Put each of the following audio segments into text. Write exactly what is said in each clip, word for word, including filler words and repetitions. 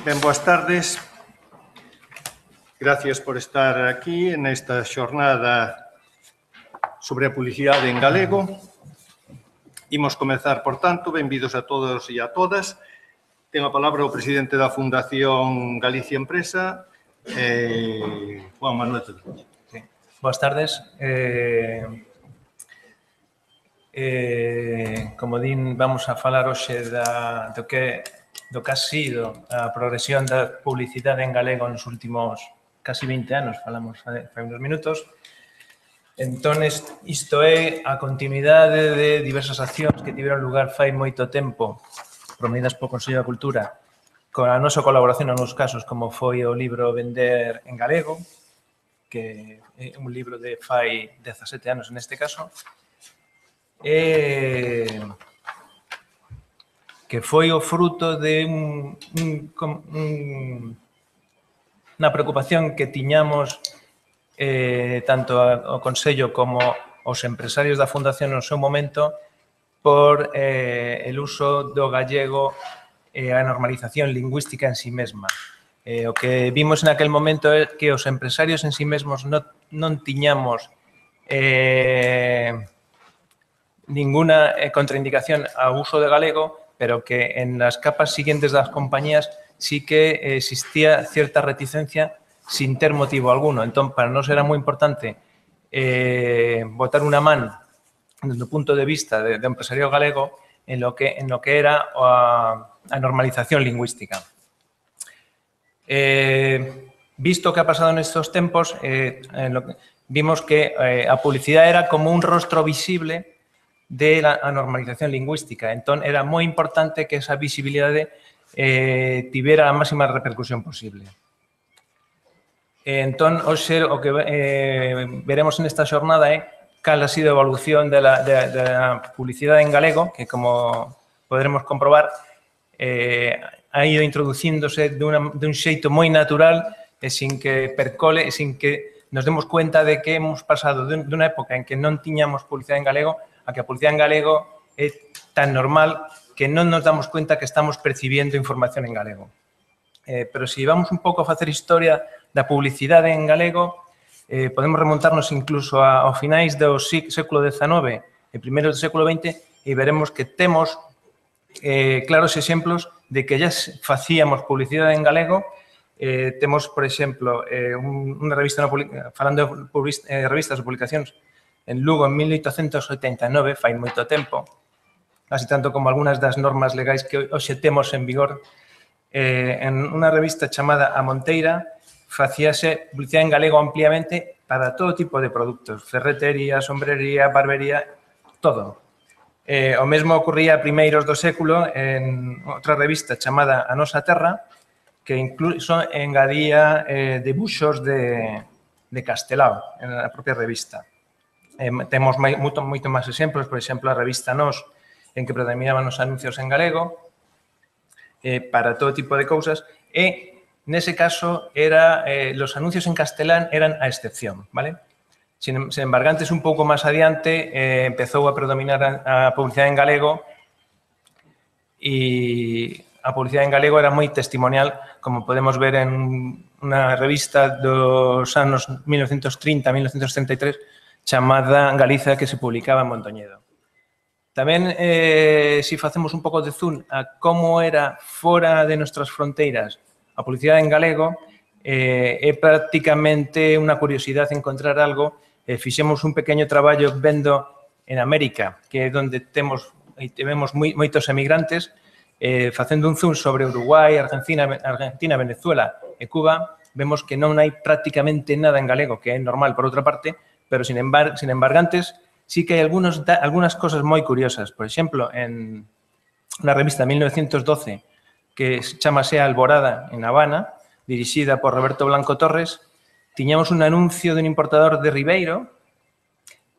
Ben, boas tardes. Gracias por estar aquí nesta xornada sobre a publicidade en galego. Imos comezar, por tanto, benvidos a todos e a todas. Ten a palabra o presidente da Fundación Galicia Empresa, eh, Juan Manuel Cedeño. Sí. Boas tardes. Eh, eh, como din, vamos a falar hoxe da, do, que, do que ha sido a progresión da publicidade en galego nos últimos casi vinte anos, falamos fai uns minutos. Entón, isto é a continuidade de diversas accións que tiveron lugar fai moito tempo, promovidas polo Consello da Cultura, con a nosa colaboración en alguns casos, como foi o libro Vender en Galego, que é un libro de fai dezasete anos neste caso, e que foi o fruto de un, un, un, unha preocupación que tiñamos eh, tanto o Consello como os empresarios da Fundación no seu momento por eh, el uso do gallego e a normalización lingüística en sí mesma. Eh, o que vimos en aquel momento é que os empresarios en sí mesmos non, non tiñamos eh, ninguna contraindicación ao uso de galego, pero que en las capas siguientes das compañías sí que existía cierta reticencia sin ter motivo alguno. Entón, para nós era moi importante eh, botar unha man desde o punto de vista de, de empresario galego en lo que, en lo que era a, a normalización lingüística. Eh, visto o que ha pasado nestes tempos, eh, en lo que, vimos que eh, a publicidade era como un rostro visible de la a normalización lingüística. Entón, era moi importante que esa visibilidade eh, tivera a máxima repercusión posible. Entón, hoxe, o que eh, veremos nesta xornada é cal ha sido a evolución da publicidade en galego, que, como poderemos comprobar, eh, ha ido introducíndose de, una, de un xeito moi natural e sin que percole, e sin que nos demos cuenta de que hemos pasado de unha época en que non tiñamos publicidade en galego a que a publicidade en galego é tan normal que non nos damos cuenta que estamos percibiendo información en galego. Eh, pero se si vamos un pouco a facer historia da publicidade en galego, eh, podemos remontarnos incluso a, ao finais do século dezenove e primeiros do século vinte e veremos que temos eh, claros exemplos de que ya facíamos publicidade en galego. Eh, temos, por exemplo, eh, un, unha revista, no, falando de eh, revistas ou publicacións, en Lugo, en mil oitocentos oitenta e nove, fai moito tempo, así tanto como algunhas das normas legais que hoxe temos en vigor, eh, en unha revista chamada A Monteira, facíase publicidade en galego ampliamente para todo tipo de produtos, ferretería, sombrería, barbería, todo. Eh, o mesmo ocurría a primeiros do século en outra revista chamada A Nosa Terra, que incluso engadía eh, debuxos de, de Castelao en a propia revista. Eh, temos moito, moito máis exemplos, por exemplo, a revista Nos, en que predominaban os anuncios en galego, eh, para todo tipo de cousas, e nese caso, era, eh, los anuncios en castelán eran a excepción, ¿vale? Sin, sin embargo, antes, un pouco máis adiante, eh, empezou a predominar a, a publicidade en galego e a publicidade en galego era moi testimonial, como podemos ver en unha revista dos anos mil novecentos trinta a mil novecentos treinta e tres chamada Galiza, que se publicaba en Mondoñedo. Tamén, eh, si facemos un pouco de zoom a como era fora de nuestras fronteiras a publicidade en galego, eh, é prácticamente unha curiosidade encontrar algo. Eh, fixemos un pequeño traballo vendo en América, que é onde temos e temos moi, moitos emigrantes, eh, facendo un zoom sobre Uruguai, Argentina, Argentina, Venezuela e Cuba, vemos que non hai prácticamente nada en galego, que é normal por outra parte, pero sin embargo, sin embargantes, sí que hai algunos, algunas cosas moi curiosas. Por exemplo, en unha revista de mil novecientos doce, que chamase Alborada en Habana, dirixida por Roberto Blanco Torres, tiñamos un anuncio dun importador de Ribeiro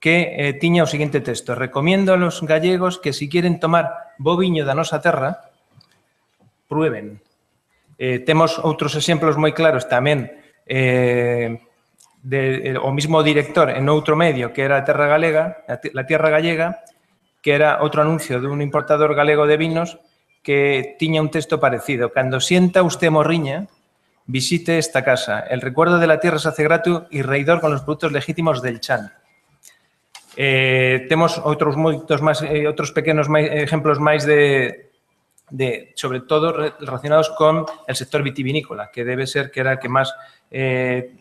que eh, tiña o seguinte texto: recomiendo a los gallegos que si quieren tomar bo viño da nosa terra, prueben. Eh, temos outros exemplos moi claros tamén eh, de, eh, o mismo director en outro medio, que era a Terra Galega, la Tierra Gallega, que era outro anuncio dun importador galego de vinos que tiña un texto parecido. Cando sienta usted morriña, visite esta casa. El recuerdo de la tierra se hace grato y reidor con los productos legítimos del chan. Eh, temos outros moitos máis, eh, outros pequenos máis, exemplos máis de, de, sobre todo, relacionados con el sector vitivinícola, que debe ser que era el que máis eh,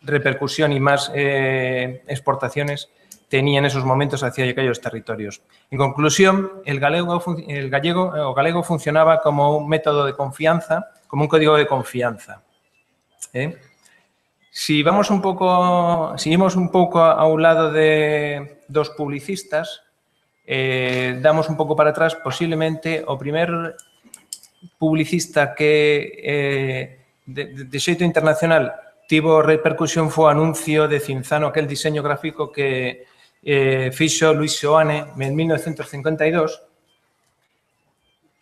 repercusión y máis eh, exportaciones tenía en esos momentos hacia aquellos territorios. En conclusión, el galego, el gallego, o galego funcionaba como un método de confianza, como un código de confianza. ¿Eh? Si vamos un pouco, seguimos un pouco a un lado de dos publicistas, eh, damos un pouco para atrás, posiblemente o primer publicista que eh, de, de xeito internacional tivo repercusión foi o anuncio de Cinzano, aquel diseño gráfico que eh, fixo Luis Seoane en mil novecientos cincuenta e dos,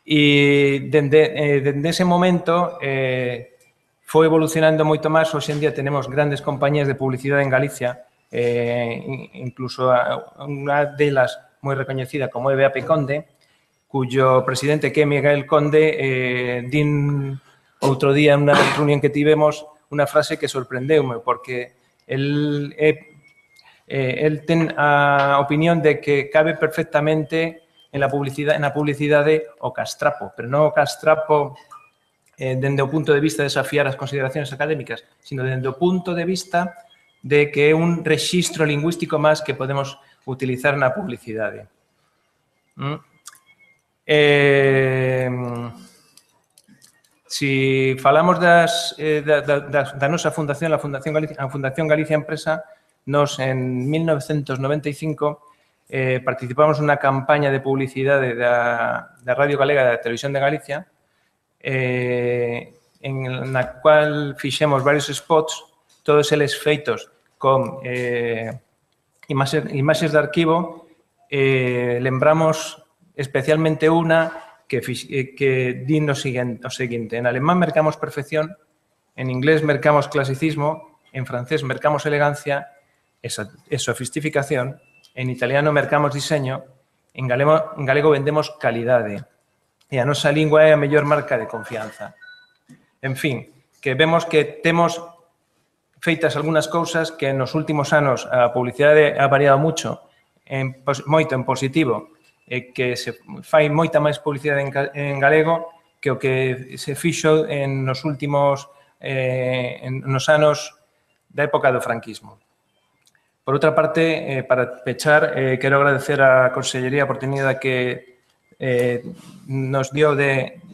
e dende, eh, dende ese momento eh, foi evolucionando moito máis. Hoxe en día tenemos grandes compañías de publicidade en Galicia, eh, incluso unha delas moi recoñecida como é B A P Conde, cuyo presidente que é Miguel Conde eh, din outro día en unha reunión que tivemos unha frase que sorprendeume, porque el é Eh, el ten a opinión de que cabe perfectamente en la publicidade, en a publicidade o castrapo, pero non o castrapo eh, dende o punto de vista de desafiar as consideracións académicas, sino dende o punto de vista de que é un rexistro lingüístico máis que podemos utilizar na publicidade. Mm. Eh, si falamos das, eh, da, da, da nosa fundación, a Fundación Galicia, a Fundación Galicia Empresa, nos, en mil novecientos noventa e cinco, eh, participamos nunha campaña de publicidade da, da Radio Galega e da Televisión de Galicia, eh, en na cual fixemos varios spots, todos eles feitos con eh, imaxes, imaxes de arquivo. Eh, lembramos especialmente unha que, que di no seguinte, o seguinte: en alemán mercamos perfección, en inglés mercamos clasicismo, en francés mercamos elegancia e sofisticación, en italiano mercamos diseño, en galego, en galego vendemos calidade, e a nosa lingua é a mellor marca de confianza. En fin, que vemos que temos feitas algunhas cousas que nos últimos anos a publicidade ha variado mucho, en, moito en positivo, e que se fai moita máis publicidade en, en galego que o que se fixo en nos últimos eh, en, nos anos da época do franquismo. Por outra parte, eh, para pechar, eh, quero agradecer á Consellería a oportunidade que eh, nos dio de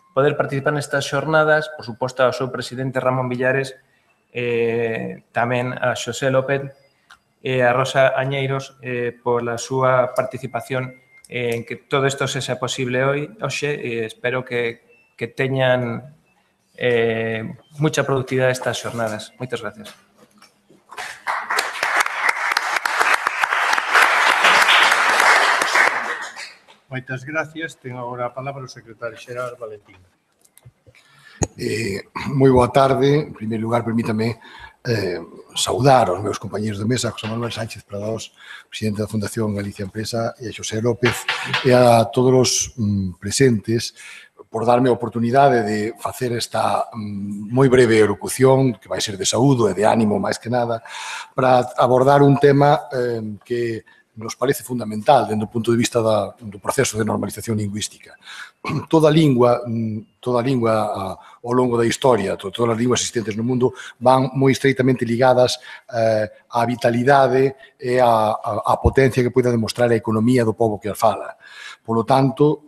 poder participar nestas xornadas, por suposto ao seu presidente Ramón Villares, eh, tamén a Xosé López e a Rosa Añeiros eh, por a súa participación en que todo isto sexa posible hoy, hoxe, e espero que, que teñan eh, mucha productividade estas xornadas. Moitas gracias. Moitas gracias. Tengo agora a palabra o secretario xeral Valentín. Eh, moi boa tarde. En primeiro lugar, permítame eh, saudar aos meus compañeros de mesa, José Manuel Sánchez Prados, presidente da Fundación Galicia Empresa, e a Xosé López, e a todos os mm, presentes, por darme a oportunidade de facer esta mm, moi breve elocución, que vai ser de saúdo e de ánimo máis que nada, para abordar un tema eh, que nos parece fundamental dentro do punto de vista da, do proceso de normalización lingüística. Toda lingua, toda lingua ao longo da historia, todas as linguas existentes no mundo van moi estreitamente ligadas eh, á vitalidade e á, á potencia que poida demostrar a economía do pobo que as fala. Por lo tanto,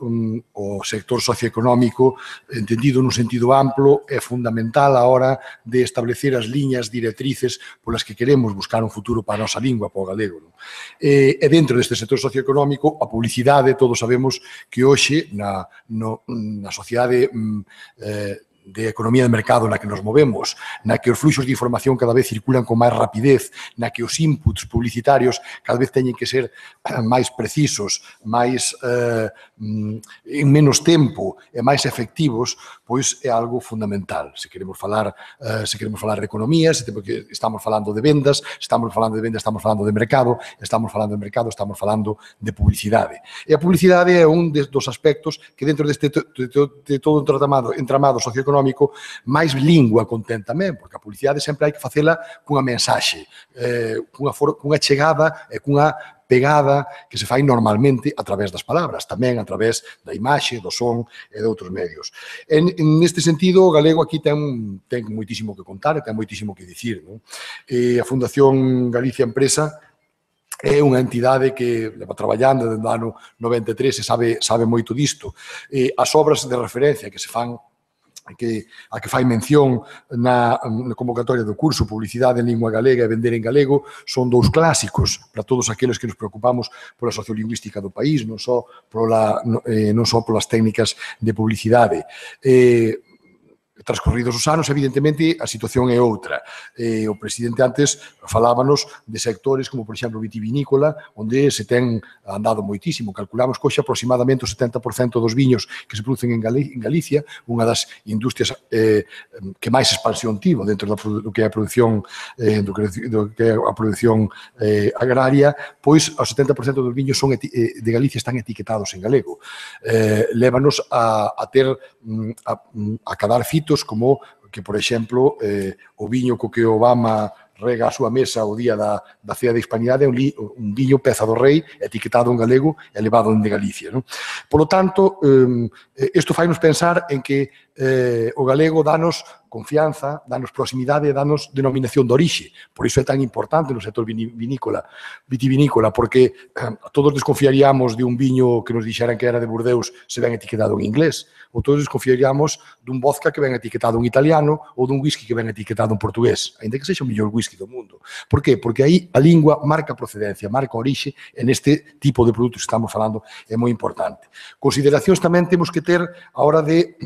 o sector socioeconómico, entendido nun sentido amplo, é fundamental a hora de establecer as liñas directrices polas que queremos buscar un futuro para a nosa lingua, para o galego. E dentro deste sector socioeconómico, a publicidade, todos sabemos que hoxe, na, no, na sociedade eh, de economía de mercado na que nos movemos, na que os fluxos de información cada vez circulan con máis rapidez, na que os inputs publicitarios cada vez teñen que ser máis precisos, máis eh, en menos tempo e máis efectivos, pois é algo fundamental. Se queremos falar, eh, se queremos falar de economía, se estamos falando de vendas, estamos falando de vendas, estamos falando de mercado, estamos falando de mercado, estamos falando de publicidade. E a publicidade é un dos aspectos que dentro deste de todo o entramado, entramado socioeconómico máis lingua contén tamén, porque a publicidade sempre hai que facela cunha mensaxe, eh, cunha, for, cunha chegada e cunha pegada que se fai normalmente a través das palabras, tamén a través da imaxe, do son e de outros medios. En, en este sentido, o galego aquí ten, ten moitísimo que contar e ten moitísimo que dicir. Non? E a Fundación Galicia Empresa é unha entidade que leva traballando desde o ano noventa e tres e sabe, sabe moito disto. E as obras de referencia que se fan, que, a que fai mención na, na convocatoria do curso Publicidade en Lingua Galega e Vender en Galego, son dous clásicos para todos aqueles que nos preocupamos pola sociolingüística do país, non só, pola, eh, non só polas técnicas de publicidade. Eh, Transcorridos os anos, evidentemente, a situación é outra. Eh, o presidente antes falábanos de sectores como, por exemplo, vitivinícola, onde se ten andado moitísimo. Calculamos que hoxe aproximadamente o setenta por cento dos viños que se producen en, Gal en Galicia, unha das industrias eh, que máis expansión tivo dentro do que é a produción, eh, do que, do que é a produción eh, agraria, pois o setenta por cento dos viños son eh, de Galicia están etiquetados en galego. Eh, lévanos a, a ter a, a cadar fitos como que, por exemplo, eh, o viño co que Obama rega a súa mesa o día da, da Cea de Hispanidade é un, li, un viño Peza do Rei, etiquetado en galego e levado de Galicia. Non? Por lo tanto, eh, isto fai-nos pensar en que eh, o galego danos confianza, danos proximidade, danos denominación de orixe. Por iso é tan importante no sector vinícola, vitivinícola, porque eh, todos desconfiaríamos de un viño que nos dixeran que era de Burdeos se ven etiquetado en inglés, ou todos desconfiaríamos dun vodka que ven etiquetado en italiano ou dun whisky que ven etiquetado en portugués, ainda que sexa o mellor whisky do mundo. Por qué? Porque aí a lingua marca procedencia, marca orixe, e neste tipo de produtos que estamos falando é moi importante. Consideracións tamén temos que ter a hora de,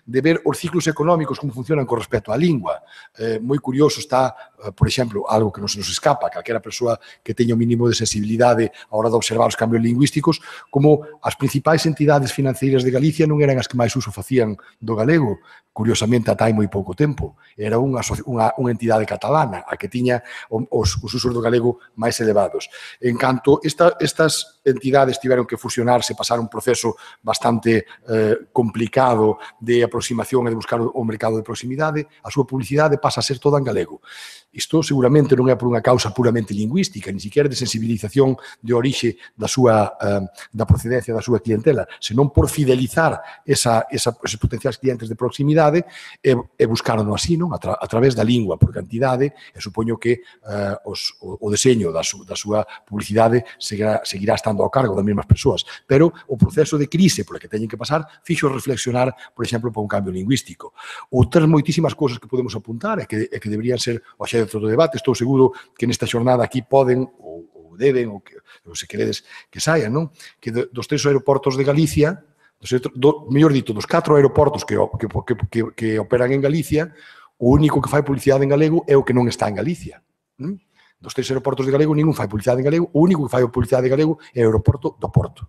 de ver os ciclos económicos, como funcionan con respecto á lingua. Eh, moi curioso está, eh, por exemplo, algo que non se nos escapa, calquera persoa que teña o mínimo de sensibilidade a hora de observar os cambios lingüísticos, como as principais entidades financeiras de Galicia non eran as que máis uso facían do galego, curiosamente ata hai moi pouco tempo. Era unha, unha, unha entidade catalana a que tiña os, os usos do galego máis elevados. En canto esta, estas entidades tiveron que fusionarse, pasar un proceso bastante eh, complicado de aproximación e de buscar o mercado de proximidade, a súa publicidade pasa a ser toda en galego. Isto seguramente non é por unha causa puramente lingüística, ni siquiera de sensibilización de orixe da súa eh, da procedencia da súa clientela, senón por fidelizar esa, esa, esos potenciais clientes de proximidade e, e buscaron así, non? A, tra, a través da lingua, por cantidade, e supoño que eh, os, o, o deseño da, su, da súa publicidade seguirá, seguirá estando ao cargo das mesmas persoas, pero o proceso de crise por que teñen que pasar fixo reflexionar, por exemplo, para un cambio lingüístico. Outras moitísimas cousas que podemos apuntar e que, e que deberían ser o xe do debate. Estou seguro que nesta xornada aquí poden ou, ou deben, ou, que, ou se queredes que saian, non? Que dos tres aeroportos de Galicia, dos, do, mellor dito, dos catro aeroportos que, que, que, que operan en Galicia, o único que fai publicidade en galego é o que non está en Galicia. ¿Mm? Dos tres aeroportos de galego, ningún fai publicidade en galego, o único que fai publicidade en galego é o aeroporto do Porto.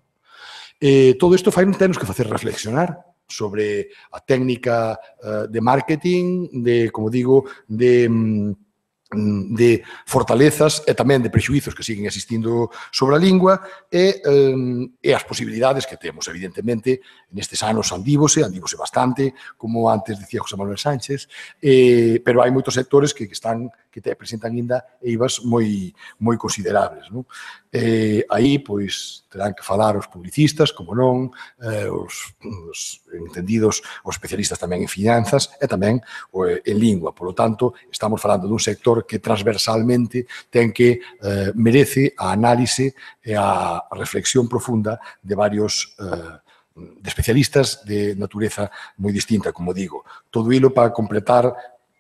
Eh, todo isto fai tenos que facer reflexionar sobre a técnica uh, de marketing, de, como digo, de... Um, de fortalezas e tamén de prexuízos que siguen existindo sobre a lingua e, eh, e as posibilidades que temos. Evidentemente, nestes anos andívose, andívose bastante, como antes decía José Manuel Sánchez, eh, pero hai moitos sectores que, que están que te presentan ainda eivas moi moi considerables, non? Eh, aí, pois, terán que falar os publicistas, como non, eh, os, os entendidos, os especialistas tamén en finanzas e tamén o, en lingua. Por lo tanto, estamos falando dun sector que transversalmente ten que eh, merece a análise e a reflexión profunda de varios eh, de especialistas de natureza moi distinta, como digo. Todo hilo para completar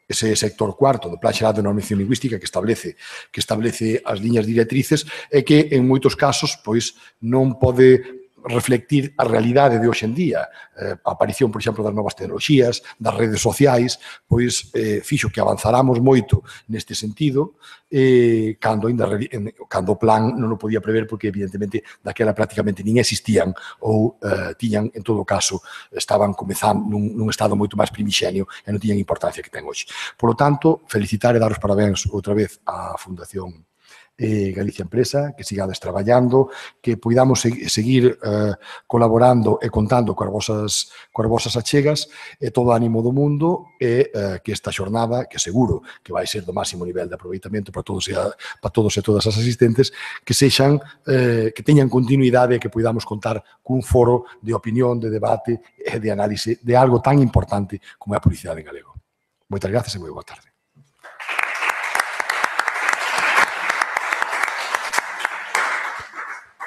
ese sector cuarto do Plan Xeral de Normación Lingüística que establece que establece as liñas directrices e que en moitos casos pois non pode reflectir a realidade de hoxe en día. Eh, a aparición, por exemplo, das novas tecnoloxías, das redes sociais, pois eh, fixo que avanzáramos moito neste sentido, eh, cando, ainda, cando o plan non o podía prever porque, evidentemente, daquela prácticamente nin existían ou eh, tiñan, en todo caso, estaban comezando nun, nun estado moito máis primixenio e non tiñan importancia que ten hoxe. Por lo tanto, felicitar e dar os parabéns outra vez á Fundación Eh, Galicia Empresa, que sigades traballando, que poidamos seg seguir eh, colaborando e contando coas vosas, coas vosas achegas e todo o ánimo do mundo e eh, que esta xornada, que seguro que vai ser do máximo nivel de aproveitamento para todos e, a, para todos e todas as asistentes, que sexan, eh, que teñan continuidade e que poidamos contar cun foro de opinión, de debate e de análise de algo tan importante como é a publicidade en galego. Moitas gracias e moi boa tarde.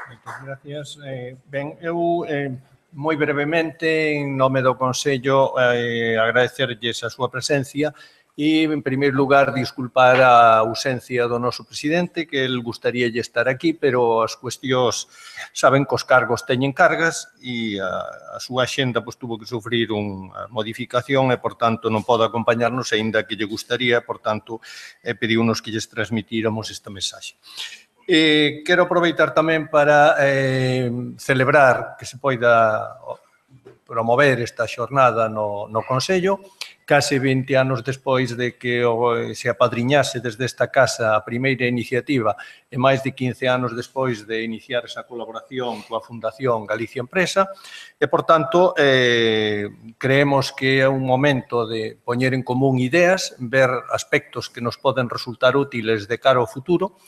Moitas gracias. Eh, ben, eu eh, moi brevemente, en nome do Consello, eh, agradecerlles a súa presencia e, en primeiro lugar, disculpar a ausencia do noso presidente, que el gustaríalle estar aquí, pero as cuestións, saben que os cargos teñen cargas e a, a súa axenda pois, tuvo que sufrir unha modificación e, por tanto, non pode acompañarnos, aínda que lle gustaría, por tanto, eh, pediunos que lles transmitíramos esta mensaxe. Eh, quero aproveitar tamén para eh, celebrar que se poida promover esta xornada no, no Consello, case vinte anos despois de que o, se apadriñase desde esta casa a primeira iniciativa e máis de quince anos despois de iniciar esa colaboración coa Fundación Galicia Empresa e, por tanto, eh, creemos que é un momento de poñer en común ideas, ver aspectos que nos poden resultar útiles de cara ao futuro,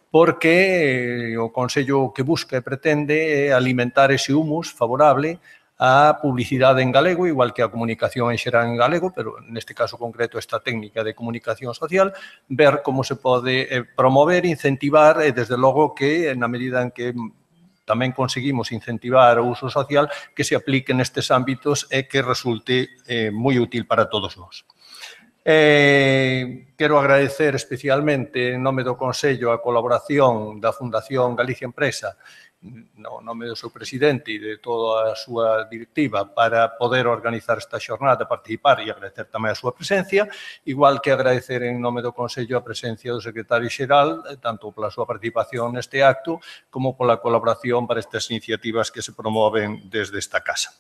porque o Consello que busca e pretende é alimentar ese humus favorable á publicidade en galego, igual que a comunicación en xeral en galego, pero neste caso concreto esta técnica de comunicación social, ver como se pode promover, incentivar e, desde logo, que na medida en que tamén conseguimos incentivar o uso social, que se aplique nestes ámbitos e que resulte eh, moi útil para todos nós. Eh, quero agradecer especialmente en nome do Consello a colaboración da Fundación Galicia Empresa no nome do seu presidente e de toda a súa directiva para poder organizar esta xornada, participar e agradecer tamén a súa presencia, igual que agradecer en nome do Consello a presencia do secretario xeral, tanto pola súa participación neste acto como pola colaboración para estas iniciativas que se promoven desde esta casa.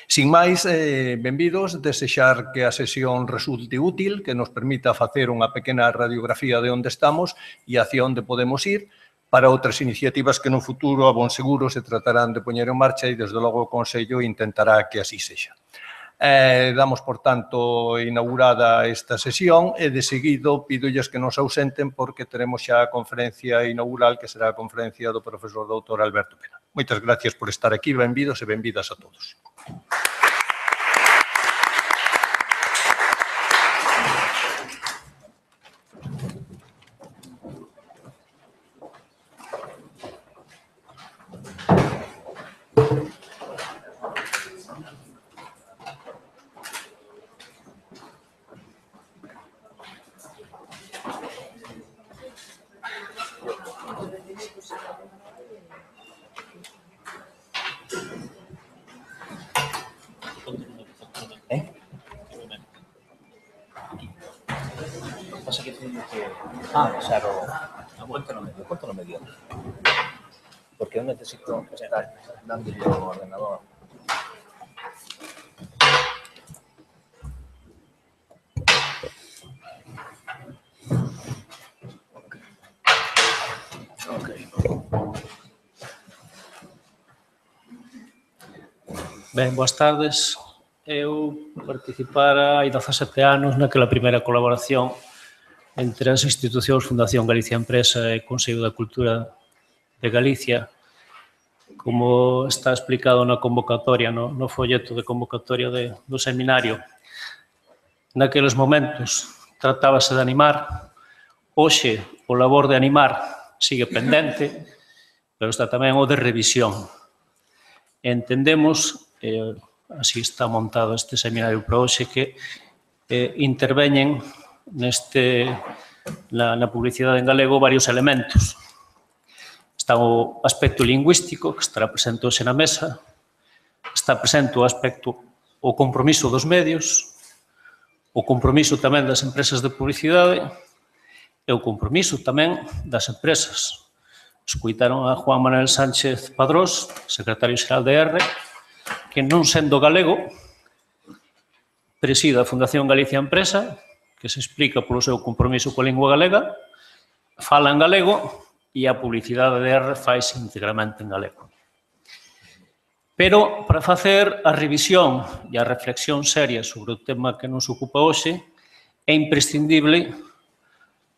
Sin máis, eh, benvidos, desexar que a sesión resulte útil, que nos permita facer unha pequena radiografía de onde estamos e hacia onde podemos ir, para outras iniciativas que no futuro, a bon seguro, se tratarán de poñer en marcha e, desde logo, o Consello intentará que así sexa. Eh, damos, por tanto, inaugurada esta sesión e, de seguido, pídolles que nos ausenten porque teremos xa a conferencia inaugural, que será a conferencia do profesor doutor Alberto Pena. Moitas gracias por estar aquí, benvidos e benvidas a todos. Ah, claro, cuéntalo medio, cuéntalo medio. Porque eu necesito estar dando o ordenador. Ben, boas tardes. Eu participara hai dezasete anos naquela primeira colaboración entre as institucións Fundación Galicia Empresa e Consello da Cultura de Galicia, como está explicado na convocatoria, no, no folleto de convocatoria de, do seminario. Naqueles momentos tratábase de animar, hoxe o labor de animar sigue pendente, pero está tamén o de revisión. Entendemos, eh, así está montado este seminario para hoxe, que eh, interveñen neste, na, na publicidade en galego varios elementos. Está o aspecto lingüístico, que estará presente hoxe na mesa, está presente o aspecto, o compromiso dos medios, o compromiso tamén das empresas de publicidade e o compromiso tamén das empresas. Escoitaron a Juan Manuel Sánchez Padrós, secretario xeral de R, que non sendo galego, preside a Fundación Galicia Empresa, que se explica polo seu compromiso coa lingua galega, fala en galego e a publicidade de R faise integramente en galego. Pero, para facer a revisión e a reflexión seria sobre o tema que nos ocupa hoxe, é imprescindible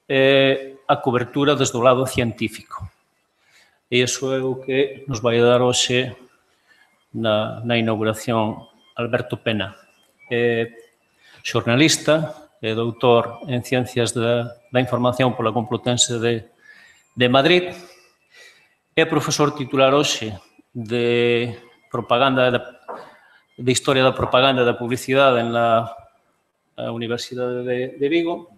eh, a cobertura desde o lado científico. E iso é o que nos vai dar hoxe na, na inauguración Alberto Pena. É xornalista, é doutor en Ciencias da, da Información pola Complutense de, de Madrid, é profesor titular hoxe de propaganda, de, de Historia da Propaganda e da Publicidade na Universidade de, de Vigo,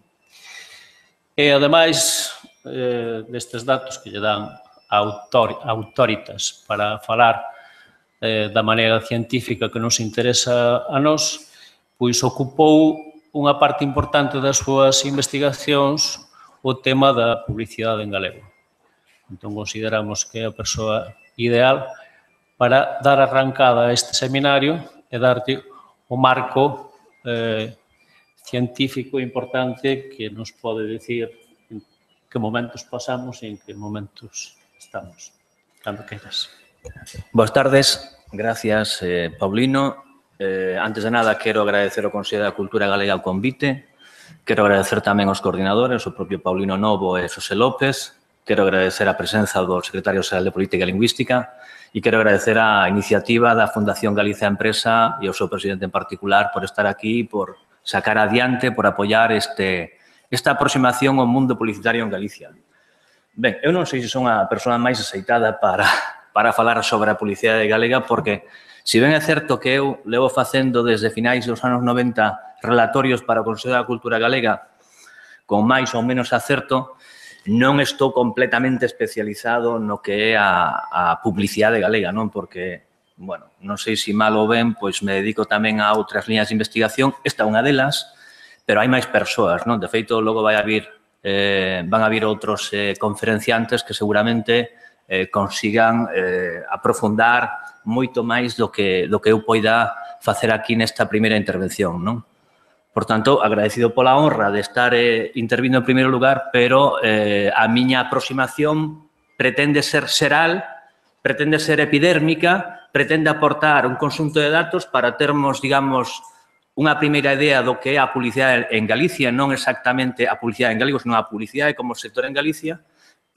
e, ademais, eh, destes datos que lle dan autor, autoritas para falar eh, da maneira científica que nos interesa a nós, pois ocupou unha parte importante das súas investigacións o tema da publicidade en galego. Entón, consideramos que é a persoa ideal para dar arrancada a este seminario e darte o marco eh, científico importante que nos pode dicir en que momentos pasamos e en que momentos estamos. Cando queiras. Boas tardes. Gracias, eh, Paulino. Eh, antes de nada, quero agradecer ao Consello da Cultura Galega o convite. Quero agradecer tamén aos coordinadores, o propio Paulino Novo e Xosé López. Quero agradecer a presenza do Secretario Xeral de Política e Lingüística e quero agradecer a iniciativa da Fundación Galicia Empresa e ao seu presidente en particular por estar aquí, por sacar adiante, por apoiar este, esta aproximación ao mundo publicitario en Galicia. Ben, eu non sei se son a persoa máis aceitada para, para falar sobre a publicidade galega, porque se ben é certo que eu levo facendo desde finais dos anos noventa relatorios para o Consello da Cultura Galega con máis ou menos acerto, non estou completamente especializado no que é a, a publicidade galega, non? Porque, bueno, non sei se mal ou ben, pois me dedico tamén a outras liñas de investigación, esta é unha delas, pero hai máis persoas, non? De feito, logo vai a vir, eh, van a vir outros eh, conferenciantes que seguramente eh, consigan eh, aprofundar moito máis do que, do que eu poida facer aquí nesta primeira intervención, non? Por tanto, agradecido pola honra de estar eh, intervindo en primeiro lugar, pero eh, a miña aproximación pretende ser xeral, pretende ser epidérmica, pretende aportar un conxunto de datos para termos, digamos, unha primeira idea do que é a publicidade en Galicia, non exactamente a publicidade en galego, senón a publicidade como sector en Galicia,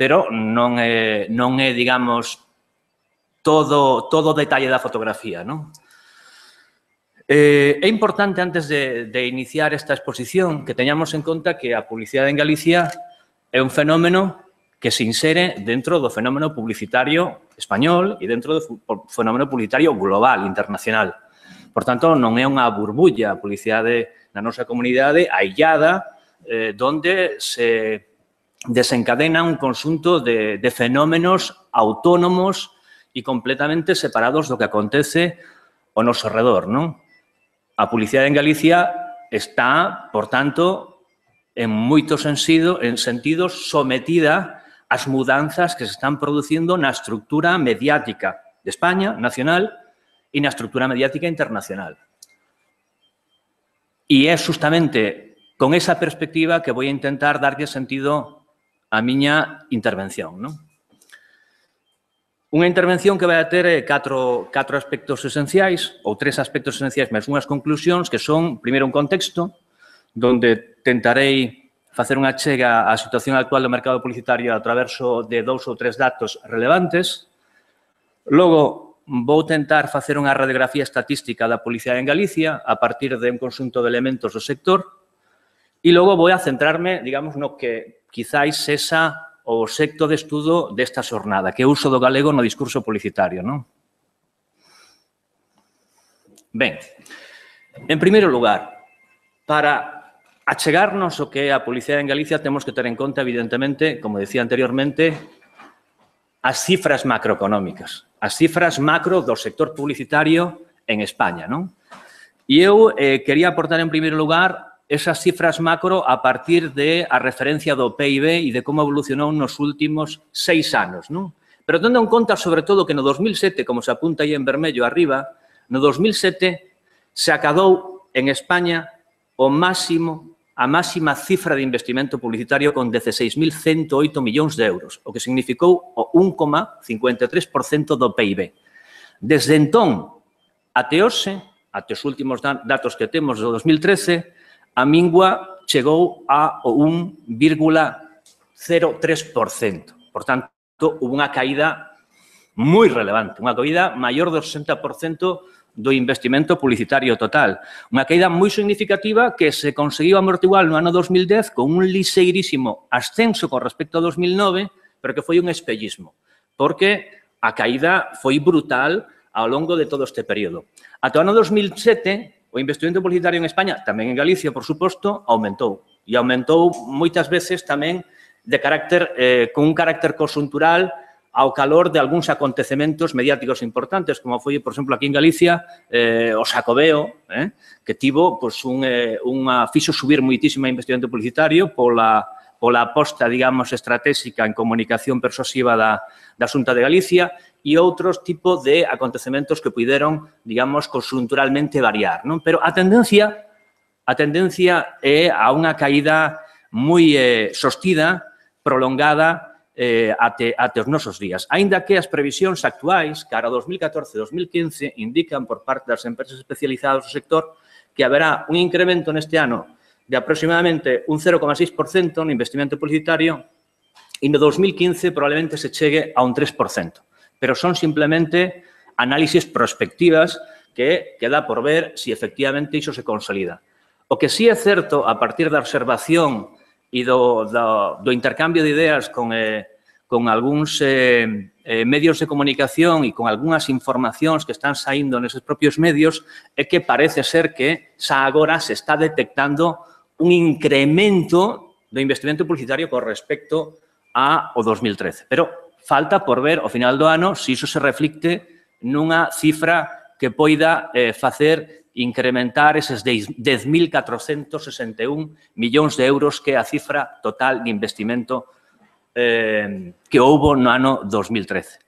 pero non é, non é digamos, todo todo o detalle da fotografía, non? Eh, é importante, antes de, de iniciar esta exposición, que teñamos en conta que a publicidade en Galicia é un fenómeno que se insere dentro do fenómeno publicitario español e dentro do fenómeno publicitario global, internacional. Por tanto, non é unha burbulla a publicidade na nosa comunidade aillada, eh, donde se desencadena un conxunto de, de fenómenos autónomos e completamente separados do que acontece ao noso redor, non? A publicidade en Galicia está, por tanto, en moitos sentido, en sentidos sometida ás mudanzas que se están producindo na estructura mediática de España, nacional, e na estructura mediática internacional. E é justamente con esa perspectiva que vou intentar darlle sentido á miña intervención, non? Unha intervención que vai a ter catro, catro aspectos esenciais, ou tres aspectos esenciais, máis unhas conclusións, que son, primeiro, un contexto, donde tentarei facer unha chega á situación actual do mercado publicitario a traverso de dous ou tres datos relevantes. Logo, vou tentar facer unha radiografía estatística da publicidade en Galicia a partir de un conxunto de elementos do sector. E logo vou a centrarme, digamos, no que quizáis esa o obxecto de estudo desta xornada, que é o uso do galego no discurso publicitario, non? Ben, en primeiro lugar, para achegarnos o que é a publicidade en Galicia, temos que ter en conta, evidentemente, como decía anteriormente, as cifras macroeconómicas, as cifras macro do sector publicitario en España, non? E eu eh, quería aportar en primeiro lugar esas cifras macro a partir de a referencia do P I B e de como evolucionou nos últimos seis anos, non? Pero tendo en conta, sobre todo, que no dos mil sete, como se apunta aí en vermello arriba, no dos mil sete se acadou en España o máximo, a máxima cifra de investimento publicitario con dieciséis mil ciento oito millóns de euros, o que significou o un coma cincuenta e tres por cento do P I B. Desde entón, até hoxe, até os últimos datos que temos do dos mil trece, a mingua chegou a un vírgula cero tres por cento. Por tanto, houve unha caída moi relevante, unha caída maior do sesenta por cento do investimento publicitario total. Unha caída moi significativa que se conseguiu amortiguar no ano dos mil dez con un lixeirísimo ascenso con respecto a dos mil nove, pero que foi un espellismo, porque a caída foi brutal ao longo de todo este período. Ata o ano dos mil sete, o investimento publicitario en España, tamén en Galicia, por suposto, aumentou. E aumentou moitas veces tamén de carácter, eh, con un carácter conxuntural ao calor de algúns acontecementos mediáticos importantes, como foi, por exemplo, aquí en Galicia, eh, o Xacobeo, eh, que tivo pues, un, eh, unha, fixo subir moitísimo investimento publicitario pola, pola aposta, digamos, estratégica en comunicación persuasiva da, da Xunta de Galicia e outros tipos de acontecementos que puideron, digamos, conxunturalmente variar, non? Pero a tendencia, a tendencia é a unha caída moi eh, sostida, prolongada, eh, até, até os nosos días. Aínda que as previsións actuais, cara a dos mil catorce e dos mil quince, indican por parte das empresas especializadas do sector que haberá un incremento neste ano de aproximadamente un cero coma seis por cento no investimento publicitario e no dos mil quince probablemente se chegue a un tres por cento. Pero son simplemente análisis prospectivas que queda por ver si efectivamente iso se consolida. O que sí é certo, a partir da observación e do, do, do intercambio de ideas con, eh, con algúns eh, eh, medios de comunicación e con algunhas informacións que están saindo neses propios medios, é que parece ser que xa agora se está detectando un incremento do investimento publicitario con respecto ao dos mil trece. Pero falta por ver, ao final do ano, se iso se reflicte nunha cifra que poida eh, facer incrementar eses dez mil catrocentos sesenta e un millóns de euros que é a cifra total de investimento eh, que houbo no ano dos mil trece.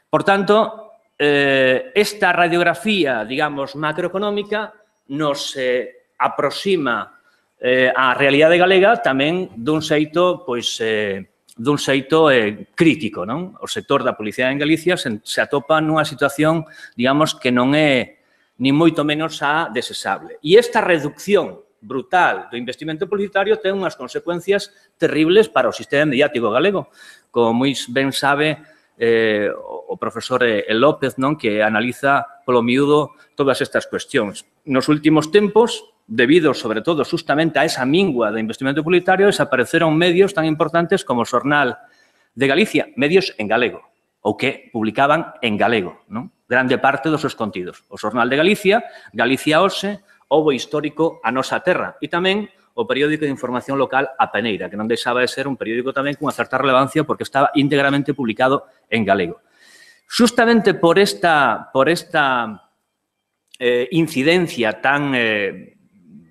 Por tanto, eh, esta radiografía, digamos, macroeconómica nos eh, aproxima eh, á realidade galega tamén dun xeito, pois, eh, dun xeito eh, crítico, non? O sector da publicidade en Galicia se, se atopa nunha situación, digamos, que non é ni moito menos a desexable. E esta reducción brutal do investimento publicitario ten unhas consecuencias terribles para o sistema mediático galego. Como moi ben sabe eh, o profesor El López, non, que analiza polo miúdo todas estas cuestións. Nos últimos tempos, debido, sobre todo, justamente a esa mingua de investimento publicitario, desapareceron medios tan importantes como o Xornal de Galicia, medios en galego, ou que publicaban en galego, non? Grande parte dos seus contidos. O Xornal de Galicia, Galicia Hoxe, o histórico A Nosa Terra e tamén o periódico de información local A Peneira, que non deixaba de ser un periódico tamén cunha certa relevancia porque estaba íntegramente publicado en galego. Justamente por esta, por esta eh, incidencia tan, eh,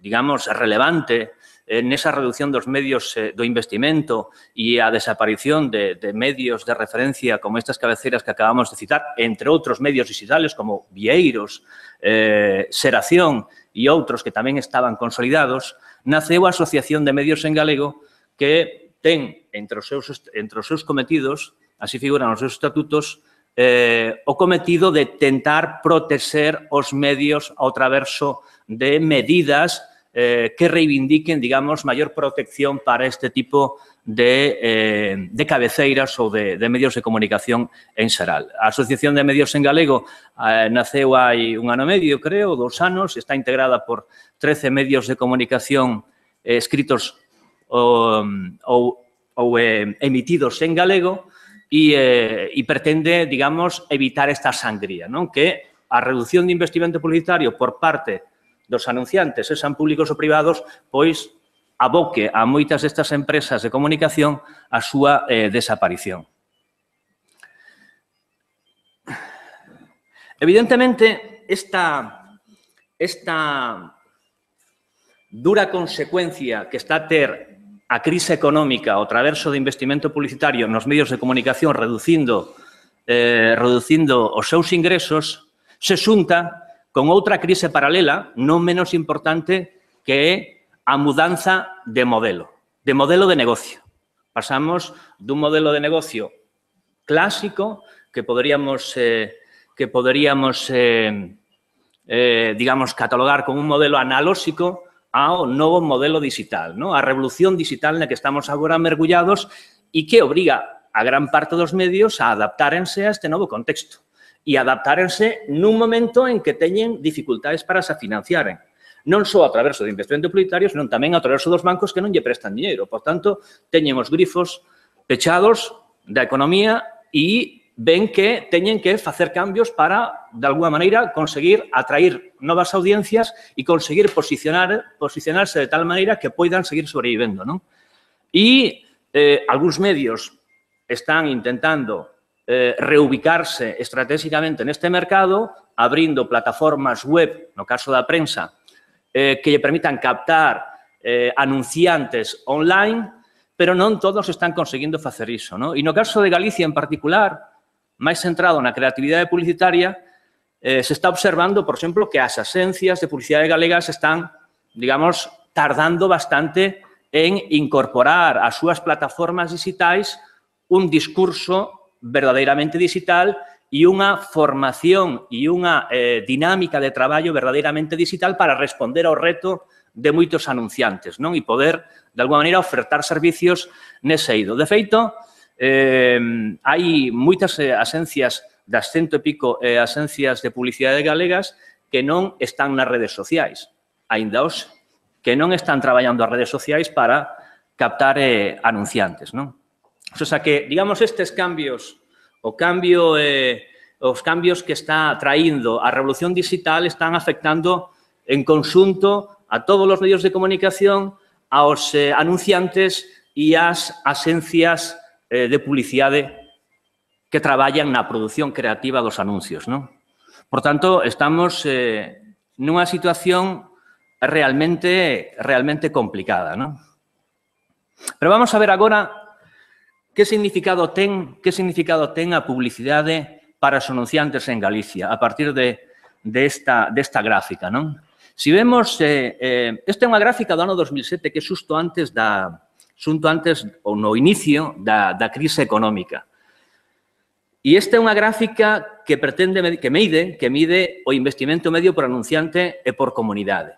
digamos, relevante nesa reducción dos medios eh, do investimento e a desaparición de, de medios de referencia como estas cabeceiras que acabamos de citar, entre outros medios digitales como Vieiros, eh, Xeración e outros que tamén estaban consolidados, naceu a Asociación de Medios en Galego que ten entre os seus, entre os seus cometidos, así figuran os seus estatutos, eh, o cometido de tentar protexer os medios ao traverso de medidas Eh, que reivindiquen, digamos, maior protección para este tipo de, eh, de cabeceiras ou de, de medios de comunicación en xeral. A Asociación de Medios en Galego eh, naceu hai un ano e medio, creo, dous anos, está integrada por trece medios de comunicación eh, escritos ou, ou, ou eh, emitidos en galego e, eh, e pretende, digamos, evitar esta sangría, non? Que a reducción de investimento publicitario por parte dos anunciantes, sexan públicos ou privados, pois aboque a moitas destas empresas de comunicación a súa eh, desaparición. Evidentemente, esta, esta dura consecuencia que está a ter a crise económica, o traverso de investimento publicitario nos medios de comunicación reducindo, eh, reducindo os seus ingresos, se xunta con outra crise paralela, non menos importante, que é a mudanza de modelo, de modelo de negocio. Pasamos dun modelo de negocio clásico que poderíamos, eh, que poderíamos eh, eh, digamos, catalogar como un modelo analóxico ao novo modelo digital, ¿no? A revolución digital na que estamos agora mergullados e que obriga a gran parte dos medios a adaptárense a este novo contexto e adaptárense nun momento en que teñen dificultades para se financiaren. Non só a través de investimento publicitario, senón tamén a través dos bancos que non lle prestan dinheiro. Por tanto, teñen os grifos pechados da economía e ven que teñen que facer cambios para, de alguna maneira, conseguir atrair novas audiencias e conseguir posicionar, posicionarse de tal maneira que poidan seguir sobrevivendo, non? E eh, algúns medios están intentando eh, reubicarse estratégicamente neste mercado, abrindo plataformas web, no caso da prensa, eh, que lle permitan captar eh, anunciantes online, pero non todos están conseguindo facer iso, non? E no caso de Galicia en particular, máis centrado na creatividade publicitaria, eh, se está observando, por exemplo, que as axencias de publicidade galegas están, digamos, tardando bastante en incorporar ás súas plataformas digitais un discurso verdadeiramente digital e unha formación e unha eh, dinámica de traballo verdadeiramente digital para responder ao reto de moitos anunciantes, non? E poder, de alguma maneira, ofertar servicios nese eido. De feito, eh, hai moitas eh, axencias das cento e pico eh, axencias de publicidade galegas que non están nas redes sociais, aínda os que non están traballando as redes sociais para captar eh, anunciantes, non? O sea que, digamos, estes cambios, o cambio, eh, os cambios que está traindo a revolución digital están afectando en conxunto a todos os medios de comunicación, aos eh, anunciantes e ás axencias eh, de publicidade que traballan na produción creativa dos anuncios, non? Por tanto, estamos eh, nunha situación realmente, realmente complicada, non? Pero vamos a ver agora que significado ten, que significado ten a publicidade para os anunciantes en Galicia a partir de, de, esta, de esta gráfica, non? Si vemos, eh, eh, esta é unha gráfica do ano dos mil sete que é xusto antes da, xusto antes ou no inicio da, da crise económica. E esta é unha gráfica que pretende, que mide, que mide o investimento medio por anunciante e por comunidade.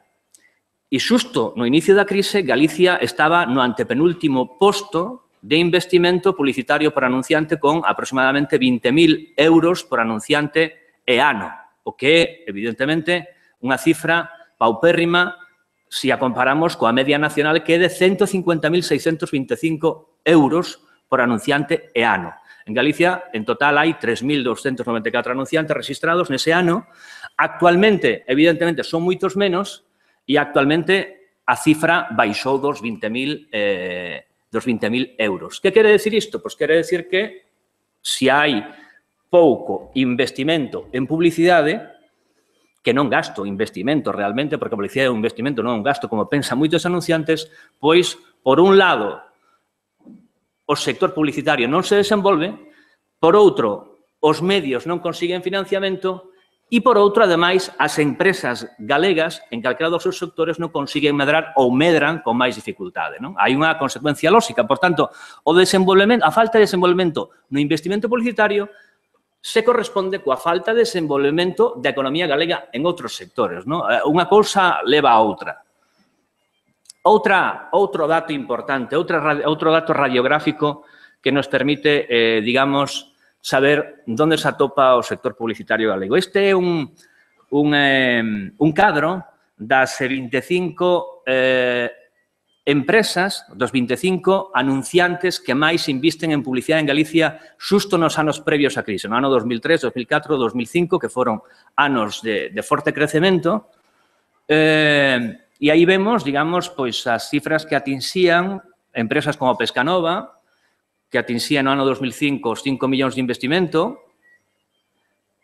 E xusto no inicio da crise, Galicia estaba no antepenúltimo posto de investimento publicitario por anunciante con aproximadamente vinte mil euros por anunciante e ano, o que é, evidentemente, unha cifra paupérrima se a comparamos coa media nacional que é de ciento cincuenta mil seiscentos vinte e cinco euros por anunciante e ano. En Galicia, en total, hai tres mil doscientos noventa e catro anunciantes registrados nese ano. Actualmente, evidentemente, son moitos menos e actualmente a cifra baixou dos vinte mil eh, dos vinte mil euros. Que quere decir isto? Pois quere decir que se hai pouco investimento en publicidade, que non gasto investimento realmente, porque a publicidade é un investimento, non un gasto, como pensan moitos anunciantes, pois, por un lado, o sector publicitario non se desenvolve, por outro, os medios non consiguen financiamento e, por outro, ademais, as empresas galegas, en calquera dos seus sectores, non consiguen medrar ou medran con máis dificultade, non? Hai unha consecuencia lógica. Por tanto, o desenvolvemento, a falta de desenvolvemento no investimento publicitario se corresponde coa falta de desenvolvemento da economía galega en outros sectores, non? Unha cousa leva a outra. Outra, outro dato importante, outra, outro dato radiográfico que nos permite, eh, digamos, saber onde se atopa o sector publicitario galego. Este é un, un, eh, un cadro das vinte e cinco eh, empresas, dos vinte e cinco anunciantes que máis invisten en publicidade en Galicia xusto nos anos previos á crise, no ano dos mil tres, dos mil catro, dos mil cinco, que foron anos de, de forte crecemento. Eh, e aí vemos, digamos, pois as cifras que atinxían empresas como Pescanova, que atinxían no ano dos mil cinco os cinco millóns de investimento,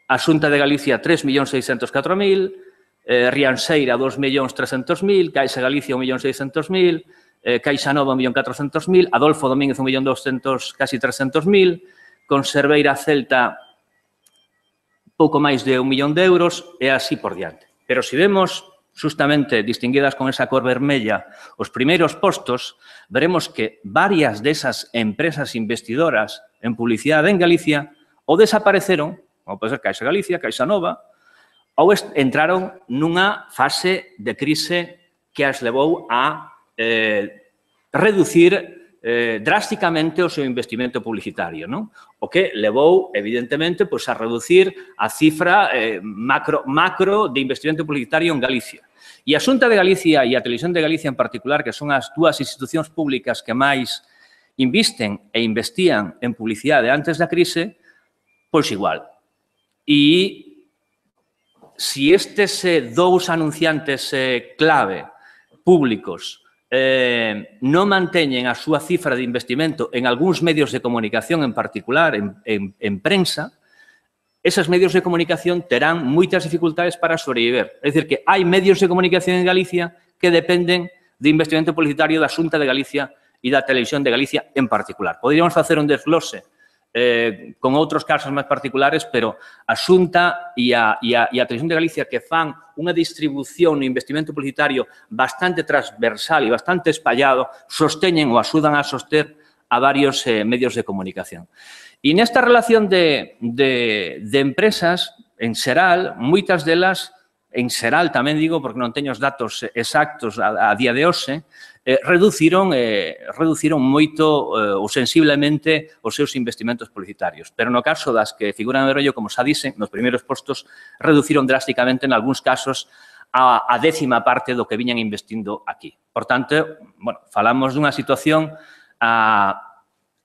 a Xunta de Galicia tres millóns seiscentos catro mil, eh, Rianseira dos millóns trescentos mil, Caixa Galicia un millón seiscentos mil, eh, Caixa Nova un millón catrocentos mil, Adolfo Domínguez un millón doscientos, casi trescentos mil, Conserveira Celta pouco máis de un millón de euros e así por diante. Pero se vemos justamente distinguidas con esa cor vermella os primeiros postos, veremos que varias desas empresas investidoras en publicidade en Galicia ou desapareceron, como pode ser Caixa Galicia, Caixa Nova, ou entraron nunha fase de crise que as levou a eh, reducir eh, drásticamente o seu investimento publicitario, non? O que levou, evidentemente, pois, a reducir a cifra eh, macro, macro de investimento publicitario en Galicia. E a Xunta de Galicia e a Televisión de Galicia en particular, que son as dúas institucións públicas que máis invisten e investían en publicidade antes da crise, pois igual. E se estes eh, dous anunciantes eh, clave públicos eh, non manteñen a súa cifra de investimento en algúns medios de comunicación en particular, en, en, en prensa, esos medios de comunicación terán moitas dificultades para sobreviver. É dicir, que hai medios de comunicación en Galicia que dependen de investimento publicitario da Xunta de Galicia e da Televisión de Galicia en particular. Poderíamos facer un desglose eh, con outros casos máis particulares, pero a Xunta e a, e, a, e a Televisión de Galicia que fan unha distribución no investimento publicitario bastante transversal e bastante espallado, sosteñen ou axudan a soster a varios eh, medios de comunicación. E nesta relación de, de, de empresas, en xeral, moitas delas, en xeral tamén digo, porque non teño os datos exactos a, a día de hoxe, eh, reduciron, eh, reduciron moito eh, ou sensiblemente os seus investimentos publicitarios. Pero no caso das que figuran en vermello, como xa dicen, nos primeiros postos reduciron drásticamente, en algúns casos, a, a décima parte do que viñan investindo aquí. Por tanto, bueno, falamos dunha situación a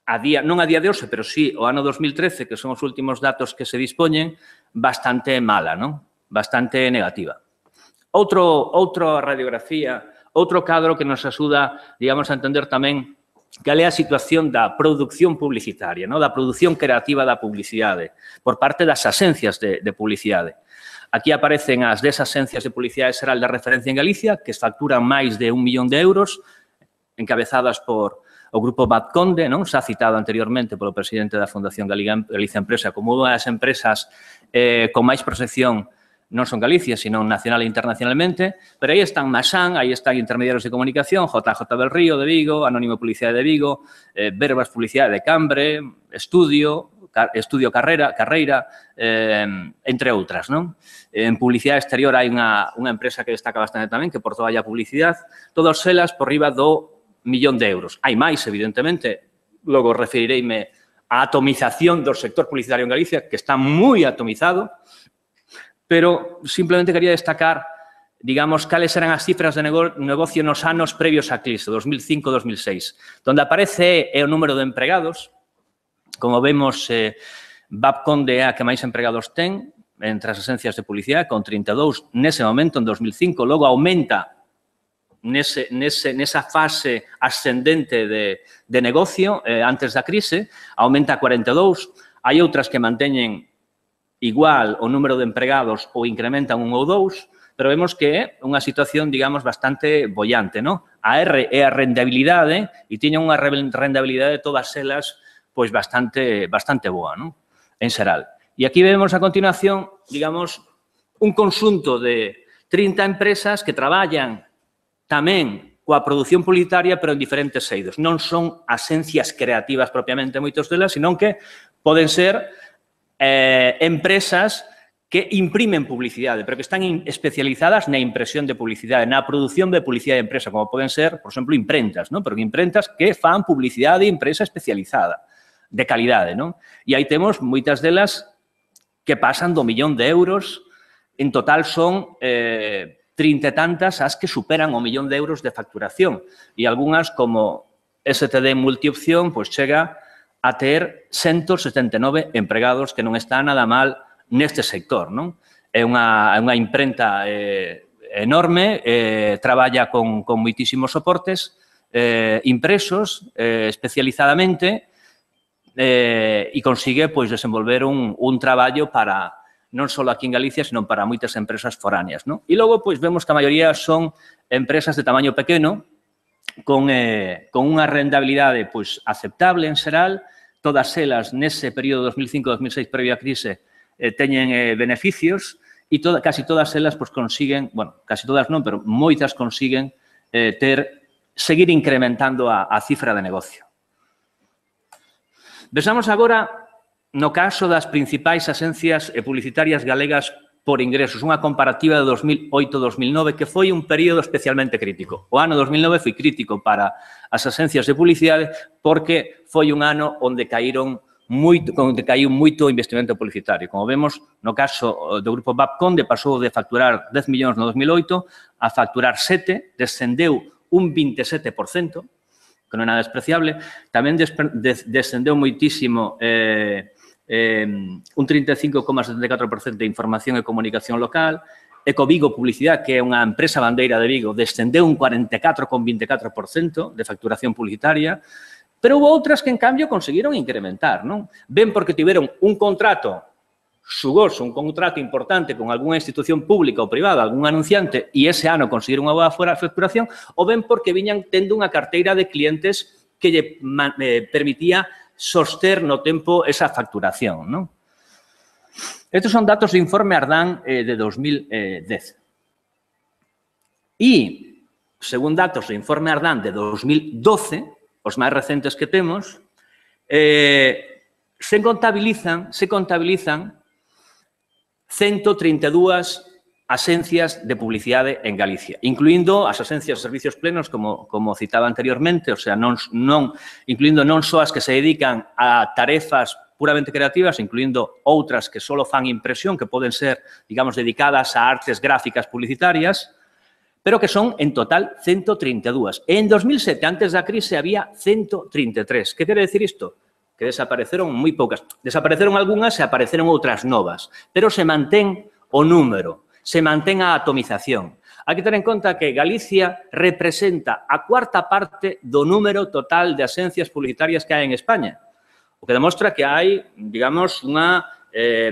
A día, non a día de hoxe, pero sí o ano dos mil trece, que son os últimos datos que se dispoñen, bastante mala, non? Bastante negativa. Outro, outra radiografía, outro cadro que nos axuda, digamos, a entender tamén cal é a situación da produción publicitaria, non? Da produción creativa da publicidade, por parte das axencias de, de publicidade. Aquí aparecen as dez axencias de publicidade xeral de referencia en Galicia, que facturan máis de un millón de euros, encabezadas por o Grupo Batconde, non? Xa citado anteriormente polo presidente da Fundación Galicia Empresa como unha das empresas eh, con máis proxección non son Galicia, sino nacional e internacionalmente, pero aí están Maxán, aí están Intermediarios de Comunicación, J J del Río de Vigo, Anónimo Publicidade de Vigo, eh, Verbas Publicidade de Cambre, Estudio, Car Estudio Carrera, Carreira, eh, entre outras, non? En publicidade exterior hai unha, unha empresa que destaca bastante tamén, que por toda a publicidade, todas elas por riba do millón de euros. Hai máis, evidentemente, logo referireime á atomización do sector publicitario en Galicia, que está moi atomizado, pero simplemente quería destacar, digamos, cales eran as cifras de negocio nos anos previos á crise, dos mil cinco a dos mil seis. Donde aparece é o número de empregados, como vemos, eh, Babconde é a que máis empregados ten, entre as agencias de publicidade, con trinta e dous nese momento, en dos mil cinco, logo aumenta Nese, nese, nesa fase ascendente de, de negocio eh, antes da crise, aumenta a cuarenta e dous. Hai outras que manteñen igual o número de empregados ou incrementan un ou dous, pero vemos que é unha situación, digamos, bastante bollante, non? A R é a rentabilidade e tiñen unha rentabilidade de todas elas pois bastante, bastante boa, non? En xeral. E aquí vemos a continuación, digamos, un conxunto de trinta empresas que traballan tamén coa produción publicitaria, pero en diferentes eidos. Non son axencias creativas propiamente moitos delas, senón que poden ser eh, empresas que imprimen publicidade, pero que están especializadas na impresión de publicidade, na produción de publicidade de empresa, como poden ser, por exemplo, imprentas, non? Pero imprentas que fan publicidade de empresa especializada, de calidade, non? E aí temos moitas delas que pasan do millón de euros, en total son eh, trinta e tantas as que superan o millón de euros de facturación e algunhas como S T D Multiopción pois chega a ter ciento setenta e nove empregados que non está nada mal neste sector, non? É unha, unha imprenta eh, enorme, eh, traballa con, con moitísimos soportes eh, impresos eh, especializadamente eh, e consigue pois desenvolver un, un traballo para non só aquí en Galicia, sino para moitas empresas foráneas, non? E logo, pois, vemos que a maioría son empresas de tamaño pequeno, con, eh, con unha rentabilidade pois, aceptable en xeral, todas elas nese período dos mil cinco a dos mil seis previo á crise eh, teñen eh, beneficios e toda, casi todas elas pois, consiguen, bueno, casi todas non, pero moitas consiguen eh, ter, seguir incrementando a, a cifra de negocio. Vexamos agora no caso das principais axencias publicitarias galegas por ingresos, unha comparativa de dos mil oito a dos mil nove, que foi un período especialmente crítico. O ano dos mil nove foi crítico para as axencias de publicidade porque foi un ano onde caíron moito, onde caiu moito investimento publicitario. Como vemos, no caso do grupo Babconde, pasou de facturar dez millóns no dos mil oito a facturar sete, descendeu un veintisiete por cento, que non é nada despreciable. Tamén descendeu moitísimo eh, Eh, un trinta e cinco coma setenta e catro por cento de información e comunicación local. Ecovigo Publicidade, que é unha empresa bandeira de Vigo, descendeu un cuarenta e catro coma vinte e catro por cento de facturación publicitaria, pero houve outras que, en cambio, conseguiron incrementar, non? Ben porque tiveron un contrato xugoso, un contrato importante con algunha institución pública ou privada, algún anunciante, e ese ano conseguiron unha boa facturación, ou ben porque viñan tendo unha carteira de clientes que lle eh, permitía soster no tempo esa facturación, non? Estos son datos do informe Ardán eh, de dos mil dez. E, según datos do informe Ardán de dos mil doce, os máis recentes que temos, eh, se contabilizan, se contabilizan ciento trinta e dúas axencias de publicidade en Galicia, incluindo as axencias de servicios plenos, como, como citaba anteriormente, o sea, non, non, incluindo non só as que se dedican a tarefas puramente creativas, incluindo outras que só fan impresión, que poden ser, digamos, dedicadas a artes gráficas publicitarias, pero que son, en total, ciento trinta e dúas. En dos mil sete, antes da crise, había ciento trinta e tres. Que quere decir isto? Que desapareceron moi poucas. Desapareceron algunhas e apareceron outras novas, pero se mantén o número, se mantén a atomización. Hai que ter en conta que Galicia representa a cuarta parte do número total de axencias publicitarias que hai en España, o que demostra que hai, digamos, unha, eh,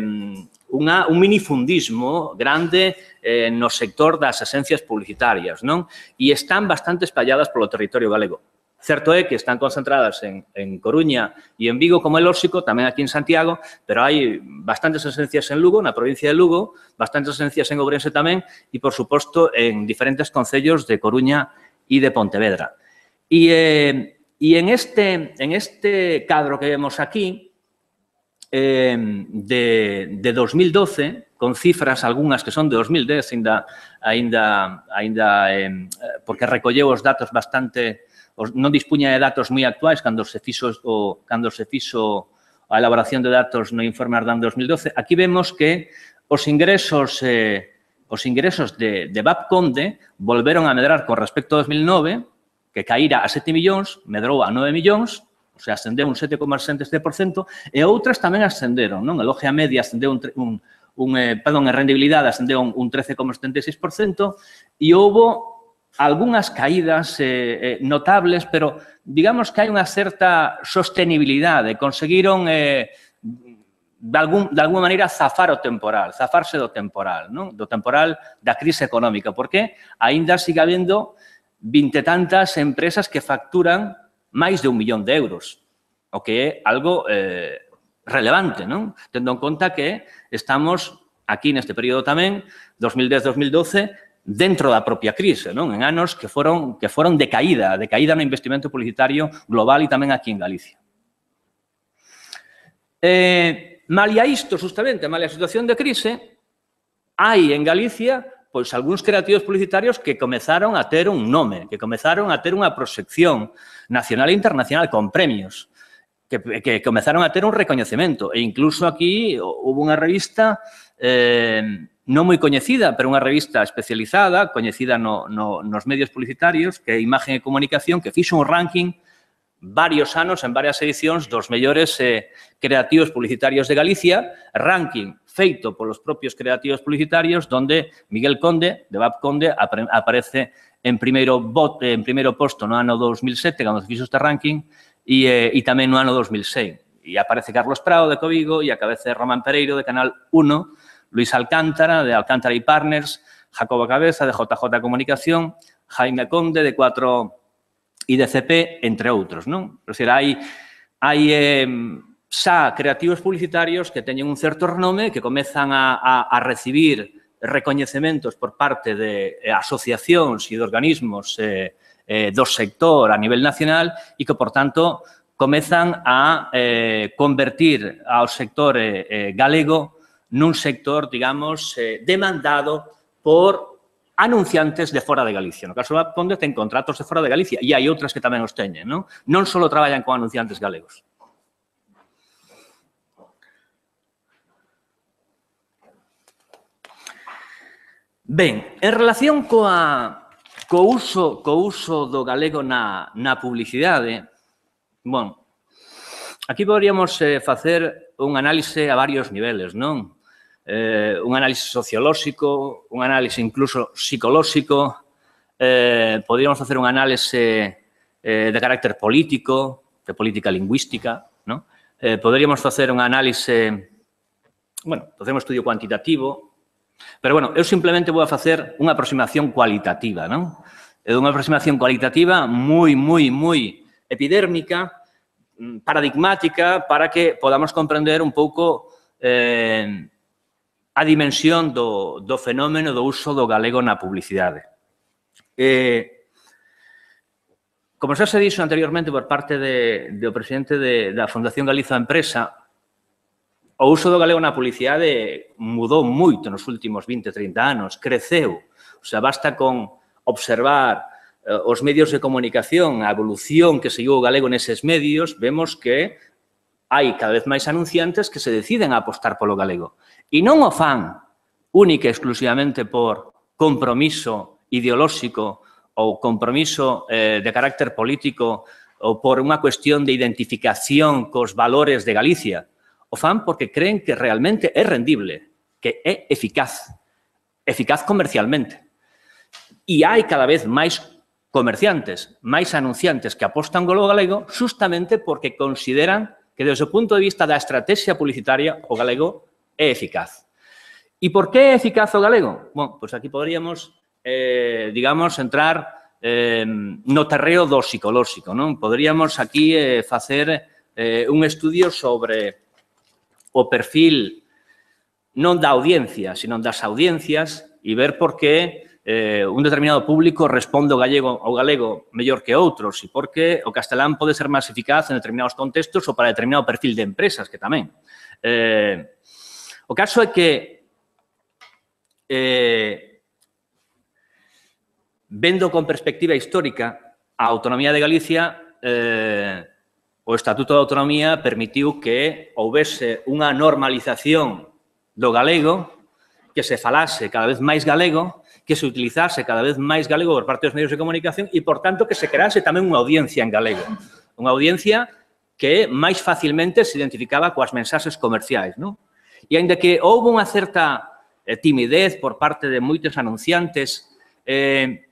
unha, un minifundismo grande eh, no sector das axencias publicitarias, non? E están bastante espalladas polo territorio galego. Certo é que están concentradas en, en Coruña e en Vigo, como é lóxico, tamén aquí en Santiago, pero hai bastantes axencias en Lugo, na provincia de Lugo, bastantes axencias en Ourense tamén e, por suposto, en diferentes concellos de Coruña e de Pontevedra. E, eh, e en, este, en este cadro que vemos aquí, eh, de, de dos mil doce, con cifras algunhas que son de dos mil dez, ainda, ainda, ainda eh, porque recolleu os datos bastante... non dispuña de datos moi actuais cando se fixo o cando se fixo a elaboración de datos no informe Ardán de dos mil doce. Aquí vemos que os ingresos eh, os ingresos de, de Babconde volveron a medrar con respecto a dos mil nove, que caíra a sete millóns, medrou a nove millóns, o sea, ascendeu un sete coma sete por cento, e outras tamén ascenderon, non? A logia media ascendeu un, un, un eh, perdón, a rendibilidade ascendeu un, un trece coma setenta e seis por cento e houbo algunhas caídas eh, eh, notables, pero digamos que hai unha certa sostenibilidade. Conseguiron, eh, de, algún, de alguma maneira, zafar o temporal, zafarse do temporal, non? Do temporal da crise económica, porque aínda sigue habendo vinte tantas empresas que facturan máis de un millón de euros, o que é algo eh, relevante, non? Tendo en conta que estamos aquí neste período tamén, dos mil dez a dos mil doce, dentro da propia crise, non? En anos que foron, que foron de caída, de caída no investimento publicitario global e tamén aquí en Galicia. Eh, malia isto, justamente, malia a situación de crise, hai en Galicia pois algúns creativos publicitarios que comezaron a ter un nome, que comezaron a ter unha proxección nacional e internacional con premios, que, que comezaron a ter un recoñecemento. E incluso aquí houve unha revista eh, non moi coñecida, pero unha revista especializada, coñecida no, no, nos medios publicitarios, que é Imagen e Comunicación, que fixo un ranking varios anos, en varias edicións, dos mellores eh, creativos publicitarios de Galicia, ranking feito polos propios creativos publicitarios, donde Miguel Conde, de Babconde, aparece en primeiro, bot, en primeiro posto no ano dos mil sete, cando se fixo este ranking, e, eh, e tamén no ano dos mil seis. E aparece Carlos Prado, de Ecovigo, e a cabeza de Román Pereiro, de Canal uno, Luis Alcántara, de Alcántara y Partners, Jacobo Cabeza, de J J Comunicación, Jaime Conde, de cuatro I D C P, entre outros, non? É dicir, hai, hai eh, xa creativos publicitarios que teñen un certo renome, que comezan a, a, a recibir recoñecementos por parte de eh, asociacións e de organismos eh, eh, do sector a nivel nacional e que, por tanto, comezan a eh, convertir ao sector eh, eh, galego nun sector, digamos, eh, demandado por anunciantes de fora de Galicia. No caso da Ponde ten contratos de fora de Galicia e hai outras que tamén os teñen, non? Non só traballan con anunciantes galegos. Ben, en relación coa, co, uso, co uso do galego na, na publicidade, bueno, aquí poderíamos eh, facer un análise a varios niveles, non? Eh, un análise sociolóxico, un análise incluso psicolóxico, eh, poderíamos facer un análise eh, de carácter político, de política lingüística, non? Eh, poderíamos facer un análise, bueno, facer un estudio cuantitativo, pero, bueno, eu simplemente vou a facer unha aproximación cualitativa, non? É unha aproximación cualitativa moi, moi, moi epidérmica, paradigmática, para que podamos comprender un pouco eh, a dimensión do, do fenómeno do uso do galego na publicidade. Eh, como xa se dixo anteriormente por parte de, do presidente de, da Fundación Galiza Empresa, o uso do galego na publicidade mudou moito nos últimos vinte, trinta anos, creceu. O sea, basta con observar eh, os medios de comunicación, a evolución que seguiu o galego neses medios, vemos que hai cada vez máis anunciantes que se deciden a apostar polo galego. E non o fan única e exclusivamente por compromiso ideolóxico ou compromiso eh, de carácter político ou por unha cuestión de identificación cos valores de Galicia. O fan porque creen que realmente é rendible, que é eficaz, eficaz comercialmente. E hai cada vez máis comerciantes, máis anunciantes que apostan polo galego justamente porque consideran que, desde o punto de vista da estrategia publicitaria, o galego é eficaz. E por que é eficaz o galego? Bom, pois aquí poderíamos, eh, digamos, entrar eh, no terreo do psicolóxico, non? Poderíamos aquí eh, facer eh, un estudio sobre o perfil non da audiencia, sino das audiencias e ver por que eh, un determinado público responde ao gallego ao galego mellor que outros e por que o castelán pode ser máis eficaz en determinados contextos ou para determinado perfil de empresas, que tamén. Eh, o caso é que eh, vendo con perspectiva histórica a autonomía de Galicia, eh, o Estatuto de Autonomía permitiu que houvese unha normalización do galego, que se falase cada vez máis galego, que se utilizase cada vez máis galego por parte dos medios de comunicación e, por tanto, que se crease tamén unha audiencia en galego. Unha audiencia que máis facilmente se identificaba coas mensaxes comerciais, non? E, ainda que houve unha certa eh, timidez por parte de moitos anunciantes, eh,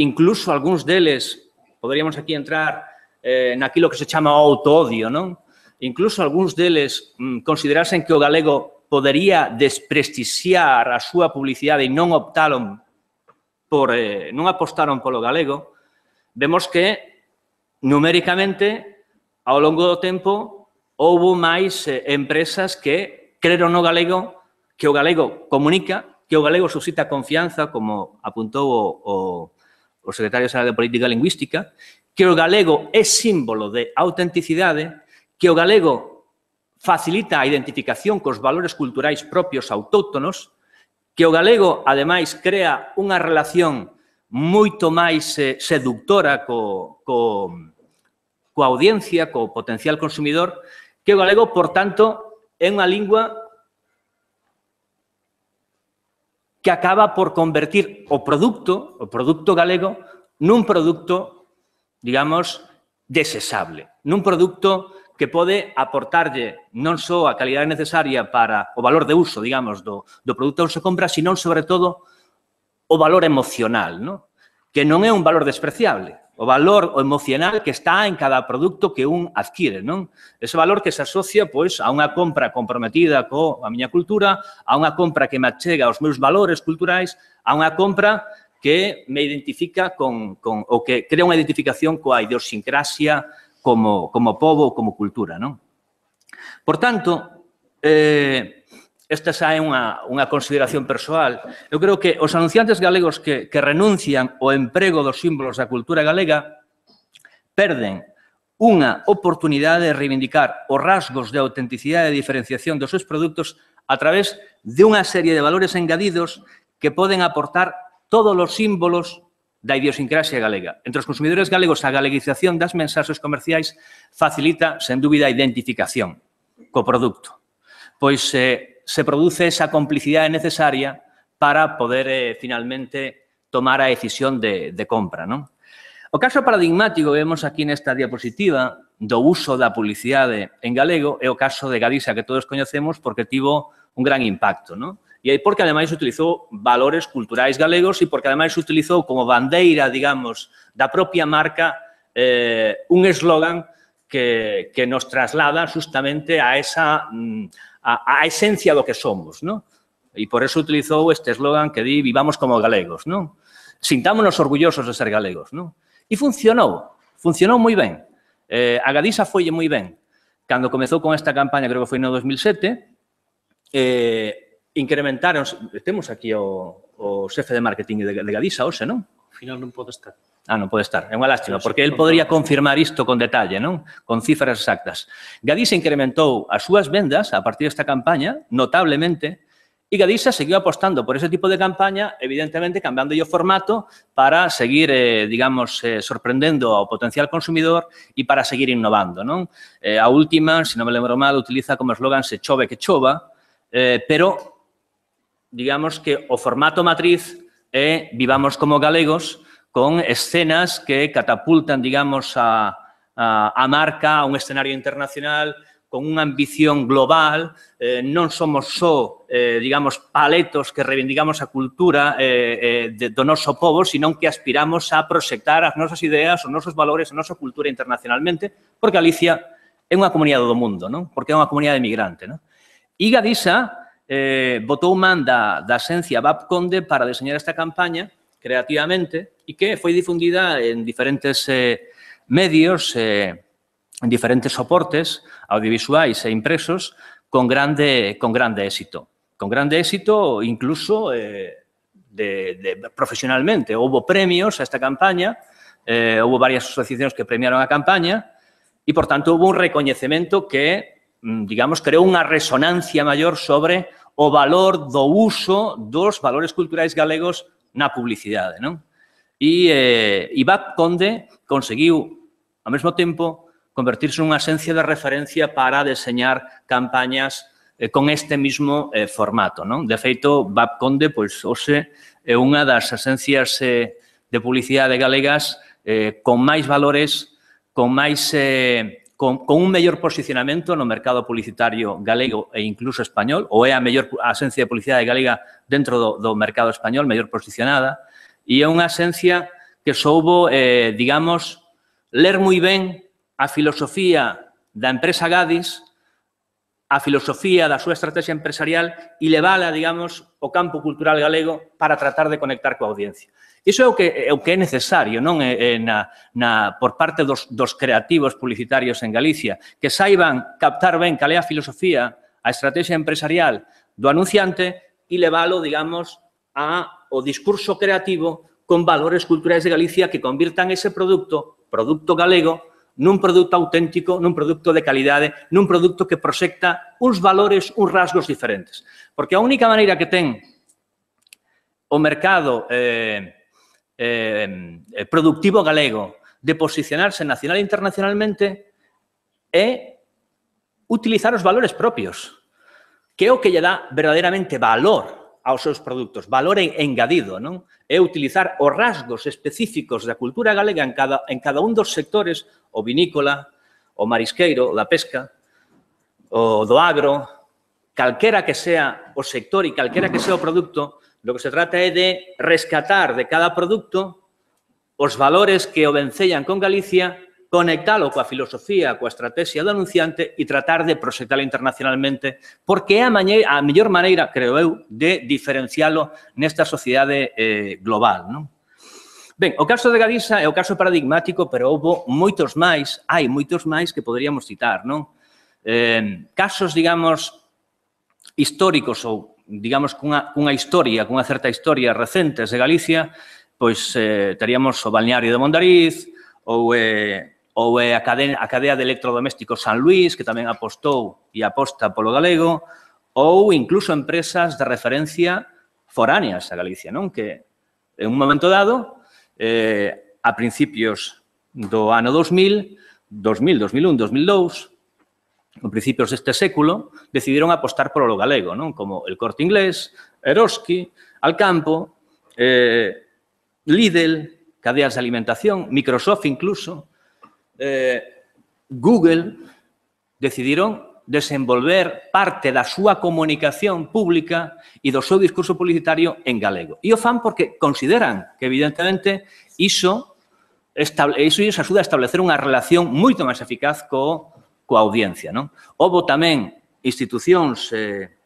incluso algúns deles, poderíamos aquí entrar eh, naquilo que se chama o autoodio, non? Incluso algúns deles mm, considerasen que o galego podería desprestixiar a súa publicidade e non optaron por, eh, non apostaron polo galego, vemos que, numéricamente, ao longo do tempo, houve máis eh, empresas que creron no galego, que o galego comunica, que o galego suscita confianza, como apuntou o, o, o secretario xeral de Política Lingüística, que o galego é símbolo de autenticidade, que o galego facilita a identificación cos valores culturais propios autóctonos, que o galego, ademais, crea unha relación moito máis eh, seductora co, co, coa audiencia, co potencial consumidor, que o galego, por tanto, é unha lingua que acaba por convertir o produto, o produto galego, nun produto, digamos, desexable, nun produto que pode aportarlle non só a calidade necesaria para o valor de uso, digamos, do, do produto que se compra, sino, sobre todo, o valor emocional, ¿no? Que non é un valor despreciable. o valor emocional que está en cada produto que un adquire, non? Ese valor que se asocia, pois, a unha compra comprometida coa miña cultura, a unha compra que me achega aos meus valores culturais, a unha compra que me identifica con, con ou que crea unha identificación coa idiosincrasia como, como pobo ou como cultura, non? Por tanto, eh, esta xa é unha, unha consideración persoal. Eu creo que os anunciantes galegos que, que renuncian ao emprego dos símbolos da cultura galega perden unha oportunidade de reivindicar os rasgos de autenticidade e diferenciación dos seus produtos a través de unha serie de valores engadidos que poden aportar todos os símbolos da idiosincrasia galega. Entre os consumidores galegos, a galeguización das mensaxes comerciais facilita, sen dúbida, a identificación co produto. Pois eh, se produce esa complicidade necesaria para poder, eh, finalmente, tomar a decisión de, de compra, non? O caso paradigmático que vemos aquí nesta diapositiva do uso da publicidade en galego é o caso de Gadisa, que todos coñecemos porque tivo un gran impacto, non? E aí porque, ademais, utilizou valores culturais galegos e porque, ademais, utilizou como bandeira, digamos, da propia marca eh, un eslogan que, que nos traslada justamente a esa... Mm, a, a esencia do que somos, non? E por eso utilizou este eslogan que di vivamos como galegos, non? Sintámonos orgullosos de ser galegos, non? E funcionou, funcionou moi ben. Eh, a Gadisa foille moi ben. Cando comezou con esta campaña, creo que foi no dos mil sete, eh, incrementaron, temos aquí o, o xefe de marketing de, de Gadisa, hoxe, non? Ao final non pode estar. Ah, non pode estar. É unha lástima, porque el podría confirmar isto con detalle, non? Con cifras exactas. Gadisa incrementou as súas vendas a partir desta campaña notablemente e Gadisa seguiu apostando por ese tipo de campaña, evidentemente cambiando o formato para seguir, eh, digamos, eh, sorprendendo ao potencial consumidor e para seguir innovando, non? Eh, a última, se non me lembro mal, utiliza como eslogan se chove que chova, eh, pero digamos que o formato matriz é vivamos como galegos, con escenas que catapultan, digamos, a, a, a marca a un escenario internacional, con unha ambición global. Eh, non somos só, eh, digamos, paletos que reivindicamos a cultura eh, eh, de, do noso povo, sino que aspiramos a proxectar as nosas ideas, os nosos valores, a nosa cultura internacionalmente, porque Galicia é unha comunidade do mundo, non? Porque é unha comunidade migrante, non? E Gadisa eh, botou man da, da esencia B A P Conde para deseñar esta campaña creativamente e que foi difundida en diferentes eh, medios, eh, en diferentes soportes audiovisuais e impresos con grande, con grande éxito. Con grande éxito incluso eh, de, de, profesionalmente. Houbo premios a esta campaña, eh, houbo varias asociacións que premiaron a campaña e, por tanto, houbo un recoñecemento que, digamos, creou unha resonancia maior sobre o valor do uso dos valores culturais galegos na publicidade, non? E, eh, e B A P Conde conseguiu, ao mesmo tempo, convertirse nunha esencia de referencia para deseñar campañas eh, con este mismo eh, formato, non? De feito, B A P Conde, pois, hoxe, é unha das esencias eh, de publicidade galegas eh, con máis valores, con máis... Eh, Con, con un mellor posicionamento no mercado publicitario galego e incluso español, ou é a mellor a esencia de publicidade galega dentro do, do mercado español, mellor posicionada, e é unha esencia que soubo, eh, digamos, ler moi ben a filosofía da empresa Gadis, a filosofía da súa estrategia empresarial e levala, digamos, ao campo cultural galego para tratar de conectar coa audiencia. Iso é o que, é o que é necesario, non? É, na, na, por parte dos, dos creativos publicitarios en Galicia, que saiban captar ben cal é a filosofía, a estrategia empresarial do anunciante e levalo, digamos, ao discurso creativo con valores culturais de Galicia que convirtan ese produto, produto galego, nun produto auténtico, nun produto de calidade, nun produto que proxecta uns valores, uns rasgos diferentes. Porque a única maneira que ten o mercado eh, Eh, productivo galego de posicionarse nacional e internacionalmente é utilizar os valores propios, que é o que lle dá verdadeiramente valor aos seus produtos, valor engadido, non? É utilizar os rasgos específicos da cultura galega en cada, en cada un dos sectores, o vinícola, o marisqueiro, o da pesca, o do agro, calquera que sea o sector e calquera que sea o produto. Lo que se trata é de rescatar de cada producto os valores que o vencellan con Galicia, conectalo coa filosofía, coa estrategia do anunciante e tratar de proxectalo internacionalmente, porque é a, maneira, a mellor maneira, creo eu, de diferencialo nesta sociedade eh, global, non? Ben, o caso de Galiza é o caso paradigmático, pero houve moitos máis, hai moitos máis que poderíamos citar, non? Eh, casos, digamos, históricos ou, digamos, cunha, cunha historia, cunha certa historia recentes de Galicia, pois eh, teríamos o balneario de Mondariz, ou eh, ou é a cadea, a cadea de electrodomésticos San Luís, que tamén apostou e aposta polo galego, ou incluso empresas de referencia foráneas a Galicia, non? Que en un momento dado, eh, a principios do ano dos mil, dos mil, dos mil un, dos mil dous, en principios deste século, decidiron apostar polo galego, non? Como el Corte Inglés, Eroski, Alcampo, eh, Lidl, cadeas de alimentación, Microsoft incluso, Eh, Google decidiron desenvolver parte da súa comunicación pública e do seu discurso publicitario en galego. E o fan porque consideran que, evidentemente, iso, estable, iso iso axuda a establecer unha relación moito máis eficaz co, coa audiencia, non? Houbo tamén institucións eh,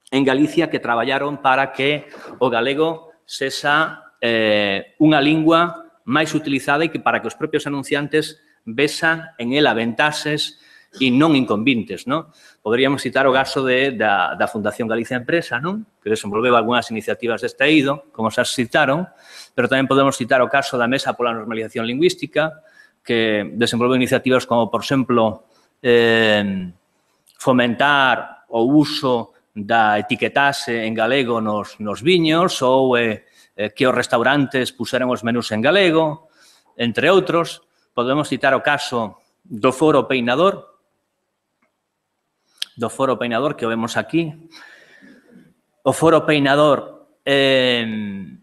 en Galicia que traballaron para que o galego sexa eh, unha lingua máis utilizada e que para que os propios anunciantes vesan en ela ventaxes e non inconvintes, non? Poderíamos citar o caso de, da, da Fundación Galicia Empresa, non? Que desenvolveu algunhas iniciativas deste eido, como xa citaron, pero tamén podemos citar o caso da Mesa pola Normalización Lingüística, que desenvolveu iniciativas como, por exemplo, eh, fomentar o uso da etiquetase en galego nos, nos viños ou eh, que os restaurantes puseran os menús en galego, entre outros. Podemos citar o caso do Foro Peinador, do Foro Peinador que o vemos aquí. O Foro Peinador eh,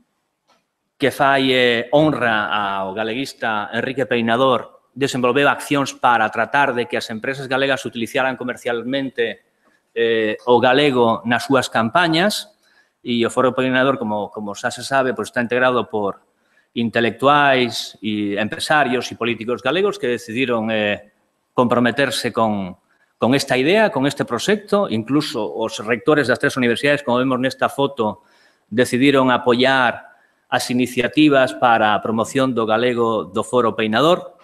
que fai eh, honra ao galeguista Enrique Peinador desenvolveu accións para tratar de que as empresas galegas utilizaran comercialmente eh, o galego nas súas campañas e o Foro Peinador, como, como xa se sabe, pues está integrado por intelectuais e empresarios e políticos galegos que decidiron eh, comprometerse con, con esta idea, con este proxecto. Incluso os rectores das tres universidades, como vemos nesta foto, decidiron apoiar as iniciativas para a promoción do galego do Foro Peinador.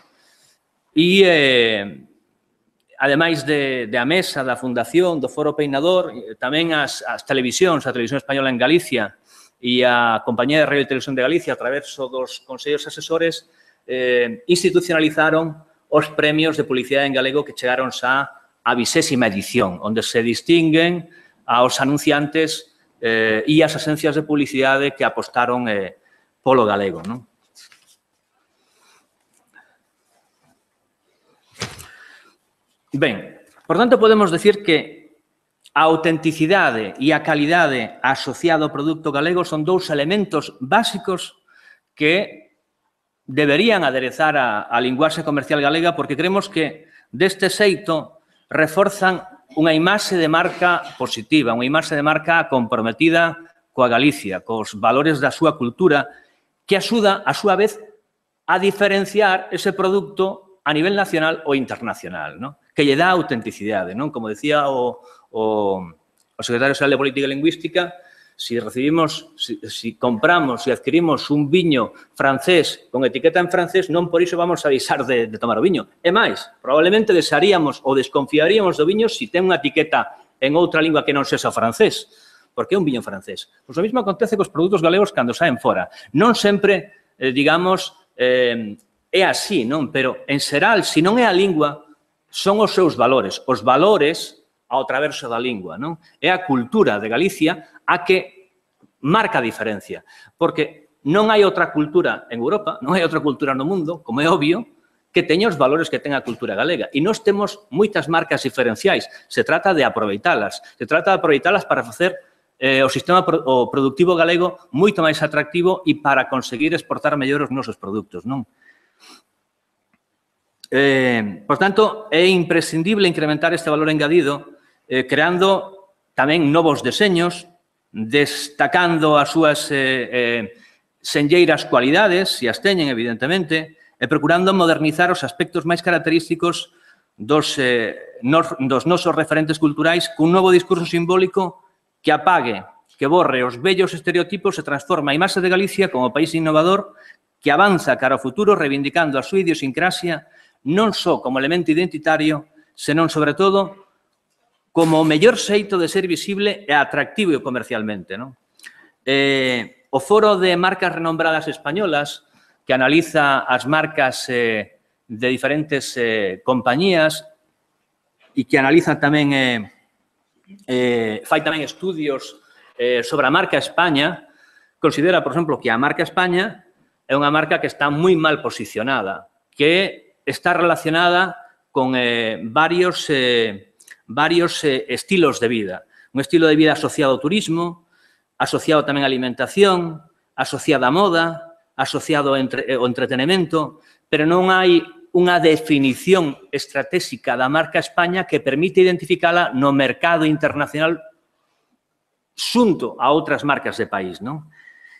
E, eh, ademais de, de a mesa da Fundación do Foro Peinador, tamén as, as televisións, a Televisión Española en Galicia, e a Compañía de Radio e Televisión de Galicia, a través dos consellos asesores, eh, institucionalizaron os premios de publicidade en galego que chegaron xa a vigésima edición, onde se distinguen aos anunciantes eh, e as agencias de publicidade que apostaron eh, polo galego, non? Ben, por tanto, podemos decir que a autenticidade e a calidade asociada ao produto galego son dous elementos básicos que deberían aderezar a, a linguaxe comercial galega porque creemos que deste xeito reforzan unha imaxe de marca positiva, unha imaxe de marca comprometida coa Galicia, cos valores da súa cultura, que axuda, a súa vez, a diferenciar ese produto a nivel nacional ou internacional, non? Que lle dá autenticidade, non? Como decía o O, o secretario xeral de Política Lingüística, si recibimos, si, si compramos, si adquirimos un viño francés con etiqueta en francés, non por iso vamos a deixar de, de tomar o viño. E máis, probablemente desearíamos ou desconfiaríamos do viño si ten unha etiqueta en outra lingua que non sexa o francés. Porque é un viño francés. Pois o mesmo acontece cos produtos galegos cando saen fora. Non sempre, eh, digamos, eh, é así, non? Pero, en xeral, se non é a lingua, son os seus valores. Os valores ao traverso da lingua, non? É a cultura de Galicia a que marca a diferencia, porque non hai outra cultura en Europa, non hai outra cultura no mundo, como é obvio, que teña os valores que ten a cultura galega. E nós temos moitas marcas diferenciais. Se trata de aproveitalas. Se trata de aproveitalas para facer eh, o sistema pro, o productivo galego moito máis atractivo e para conseguir exportar mellor os nosos produtos, non? Eh, por tanto, é imprescindible incrementar este valor engadido Eh, creando tamén novos deseños, destacando as súas eh, eh, senlleiras cualidades, se as teñen, evidentemente, e procurando modernizar os aspectos máis característicos dos, eh, nos, dos nosos referentes culturais cun novo discurso simbólico que apague, que borre os vellos estereotipos e transforma a imaxe de Galicia como país innovador que avanza cara ao futuro reivindicando a súa idiosincrasia non só como elemento identitario, senón, sobre todo, como o mellor xeito de ser visible e atractivo comercialmente. Non? Eh, o Foro de Marcas Renombradas Españolas, que analiza as marcas eh, de diferentes eh, compañías e que analiza tamén, eh, eh, fai tamén estudios eh, sobre a marca España, considera, por exemplo, que a marca España é unha marca que está moi mal posicionada, que está relacionada con eh, varios, eh, varios eh, estilos de vida. Un estilo de vida asociado ao turismo, asociado tamén á alimentación, asociado á moda, asociado ao, entre, ao entretenimento, pero non hai unha definición estratégica da marca España que permite identificala no mercado internacional xunto a outras marcas de país. Non?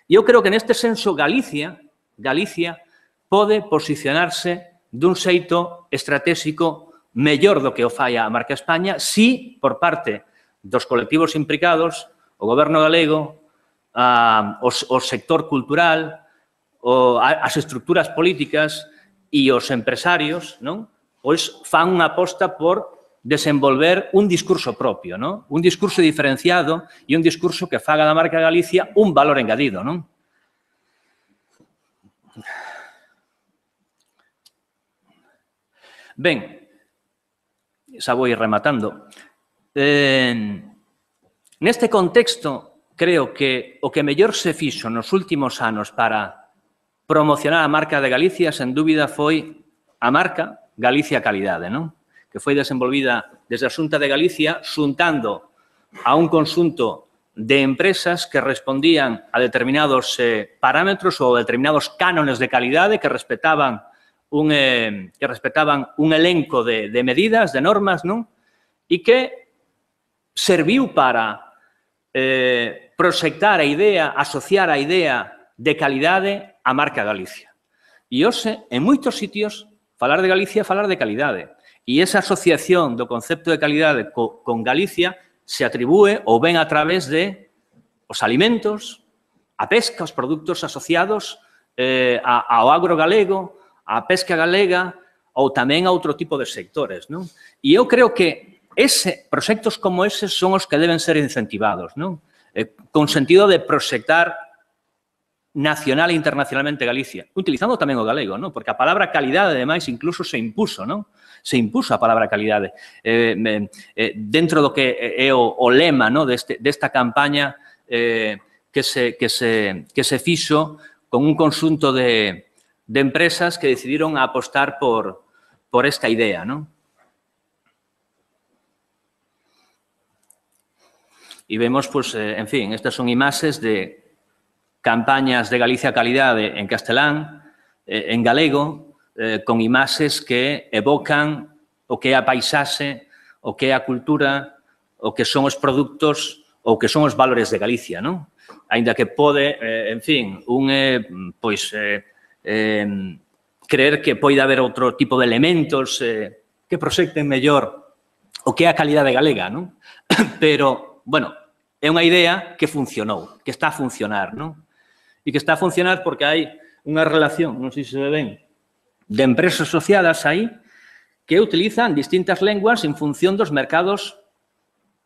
E eu creo que neste senso Galicia, Galicia pode posicionarse dun xeito estratégico mellor do que o fai a marca España si, por parte dos colectivos implicados, o goberno galego, a, o, o sector cultural, o, a, as estructuras políticas e os empresarios, non? Pois fan unha aposta por desenvolver un discurso propio, non? Un discurso diferenciado e un discurso que faga da marca Galicia un valor engadido, non? Ben, xa vou ir rematando. Eh, neste contexto, creo que o que mellor se fixo nos últimos anos para promocionar a marca de Galicia, sen dúbida, foi a marca Galicia Calidade, non? Que foi desenvolvida desde a Xunta de Galicia xuntando a un conxunto de empresas que respondían a determinados eh, parámetros ou determinados cánones de calidade que respetaban un, eh, que respetaban un elenco de, de medidas, de normas, non? E que serviu para eh, proxectar a idea, asociar a idea de calidade á marca Galicia. E hoxe, en moitos sitios, falar de Galicia é falar de calidade. E esa asociación do concepto de calidade co, con Galicia se atribúe ou ven a través de os alimentos, a pesca, os produtos asociados eh, ao agro galego, a pesca galega ou tamén a outro tipo de sectores. Non? E eu creo que ese, proxectos como eses son os que deben ser incentivados, non? Eh, con sentido de proxectar nacional e internacionalmente Galicia, utilizando tamén o galego, non? Porque a palabra calidade, ademais, incluso se impuso, non? Se impuso a palabra calidade. Eh, eh, dentro do que é o, o lema, non? Deste, desta campaña eh, que, se, que, se, que se fixo con un conxunto de, de empresas que decidiron apostar por, por esta idea, non? E vemos, pues, eh, en fin, estas son imaxes de campañas de Galicia Calidade en castelán, eh, en galego, eh, con imaxes que evocan o que é a paisaxe, o que é a cultura, o que son os produtos, ou que son os valores de Galicia, non? Ainda que pode, eh, en fin, un, eh, pois, eh, eh, creer que pode haber outro tipo de elementos eh, que proxecten mellor o que é a calidade galega, non? Pero, bueno, é unha idea que funcionou, que está a funcionar, non? E que está a funcionar porque hai unha relación, non sei se se ven, de empresas asociadas aí que utilizan distintas lenguas en función dos mercados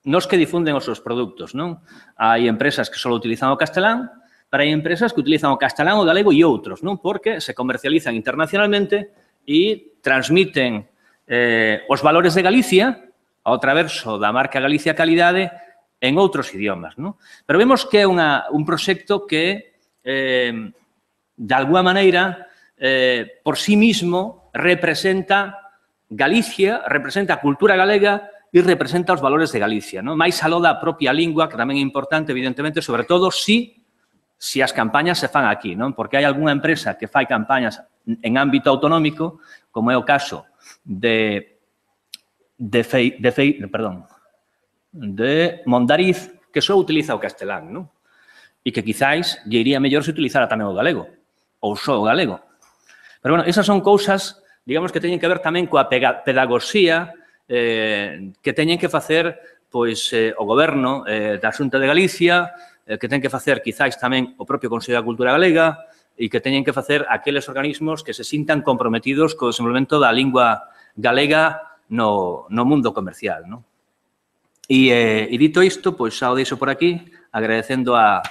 nos que difunden os seus produtos, non? Hai empresas que só utilizan o castelán, pero hai empresas que utilizan o castelán, o galego e outros, non? Porque se comercializan internacionalmente e transmiten eh, os valores de Galicia ao traverso da marca Galicia Calidade en outros idiomas, non? Pero vemos que é unha, un proxecto que, eh, de alguma maneira, eh, por sí mismo, representa Galicia, representa a cultura galega e representa os valores de Galicia, non? Mais aló da propia lingua, que tamén é importante, evidentemente, sobre todo si, si as campañas se fan aquí, non? Porque hai algunha empresa que fai campañas en ámbito autonómico, como é o caso de, de, fei, de, fei, perdón, de Mondariz, que só utiliza o castelán, non? e que quizáis lle iría mellor se utilizara tamén o galego, ou só o galego. Pero, bueno, esas son cousas, digamos, que teñen que ver tamén coa pedagogía eh, que teñen que facer pois, eh, o goberno eh, da Xunta de Galicia, eh, que ten que facer, quizáis, tamén o propio Consello da Cultura Galega e que teñen que facer aqueles organismos que se sintan comprometidos co desenvolvemento da lingua galega no, no mundo comercial, non? E, eh, e dito isto, pois xa o deixo por aquí, agradecendo a,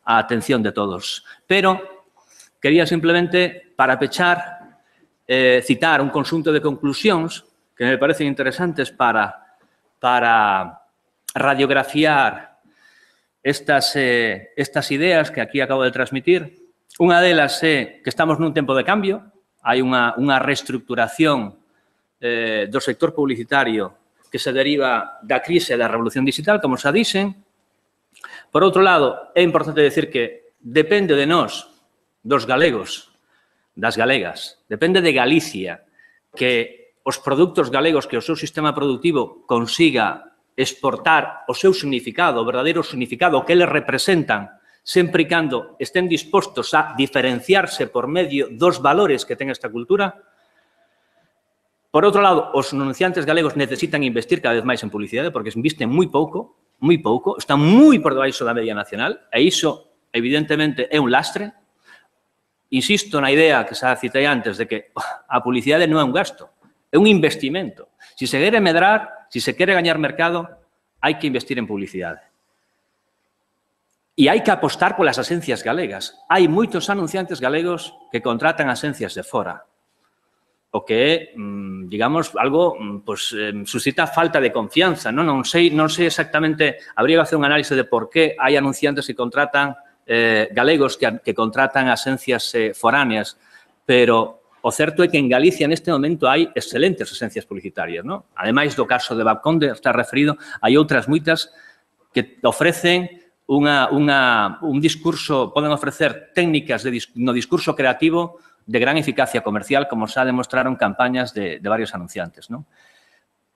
a atención de todos. Pero quería simplemente, para pechar, eh, citar un conxunto de conclusións que me parecen interesantes para, para radiografiar estas, eh, estas ideas que aquí acabo de transmitir. Unha delas é que estamos nun tempo de cambio, hai unha, unha reestructuración eh, do sector publicitario que se deriva da crise da revolución digital, como xa dixen. Por outro lado, é importante decir que depende de nós, dos galegos, das galegas, depende de Galicia, que os produtos galegos, que o seu sistema productivo consiga exportar o seu significado, o verdadeiro significado que eles representan, sempre e cando estén dispostos a diferenciarse por medio dos valores que ten esta cultura. Por outro lado, os anunciantes galegos necesitan investir cada vez máis en publicidade porque invisten moi pouco, moi pouco, están moi por debaixo da media nacional e iso, evidentemente, é un lastre. Insisto na idea que xa citei antes de que a publicidade non é un gasto, é un investimento. Se se quere medrar, se se quere gañar mercado, hai que investir en publicidade. E hai que apostar polas asencias galegas. Hai moitos anunciantes galegos que contratan asencias de fora. O que é, digamos, algo pues, suscita falta de confianza. Non, non, sei, non sei exactamente, habría que hacer un análisis de por qué hai anunciantes que contratan eh, galegos que, que contratan asencias eh, foráneas, pero o certo é que en Galicia neste momento hai excelentes asencias publicitarias, non? Ademais do caso de Babconde, está referido, hai outras moitas que ofrecen unha, unha, un discurso, poden ofrecer técnicas de, no discurso creativo de gran eficacia comercial, como xa demostraron campañas de, de varios anunciantes, non?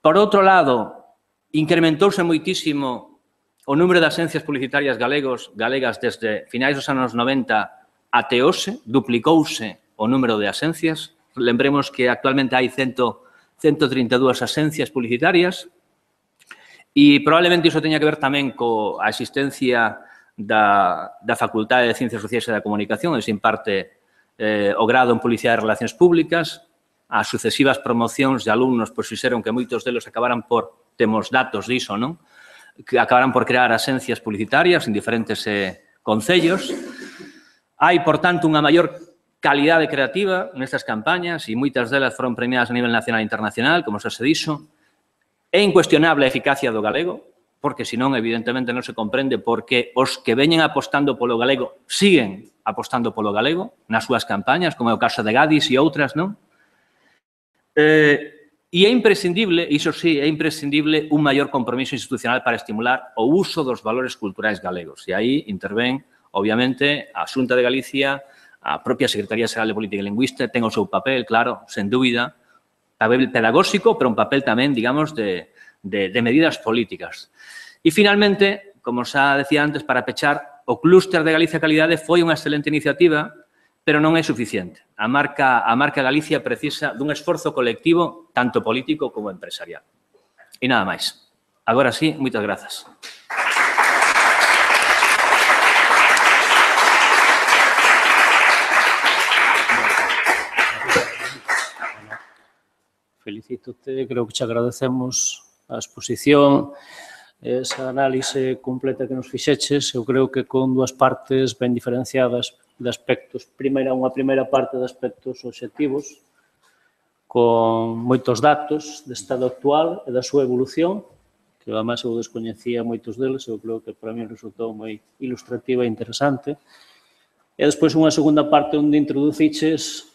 Por outro lado, incrementouse moitísimo o número de asencias publicitarias galegos, galegas desde finais dos anos noventa até hoxe, duplicouse o número de asencias. Lembremos que actualmente hai ciento trinta e dúas asencias publicitarias e probablemente iso teña que ver tamén coa existencia da, da Facultade de Ciencias Sociais e da Comunicación, onde se imparte eh, o grado en Publicidade e Relacións Públicas. As sucesivas promocións de alumnos pois, fixeron que moitos deles acabaran por, temos datos diso, non? Que acabaran por crear asencias publicitarias en diferentes eh, concellos. Hai, por tanto, unha maior calidade creativa nestas campañas e moitas delas foron premiadas a nivel nacional e internacional, como xa se dixo. É incuestionable a eficacia do galego, porque senón, evidentemente, non se comprende porque os que veñen apostando polo galego siguen apostando polo galego nas súas campañas, como é o caso de Gadis e outras, non? Eh, e é imprescindible, iso sí, é imprescindible un maior compromiso institucional para estimular o uso dos valores culturais galegos. E aí intervén, obviamente, a Xunta de Galicia, a propia Secretaría Xeral de Política e Lingüística, ten o seu papel, claro, sen dúbida, papel pedagóxico, pero un papel tamén, digamos, de, de, de medidas políticas. E, finalmente, como xa decía antes, para pechar, o clúster de Galicia Calidade foi unha excelente iniciativa, pero non é suficiente. A marca, a marca Galicia precisa dun esforzo colectivo, tanto político como empresarial. E nada máis. Agora sí, moitas grazas. Felicítote, creo que te agradecemos a exposición, esa análise completa que nos fixeches. Eu creo que con dúas partes ben diferenciadas de aspectos. Primeira, unha primeira parte de aspectos obxectivos, con moitos datos de estado actual e da súa evolución, que además eu descoñecía moitos deles, eu creo que para mí resultou moi ilustrativa e interesante. E despois unha segunda parte onde introduciches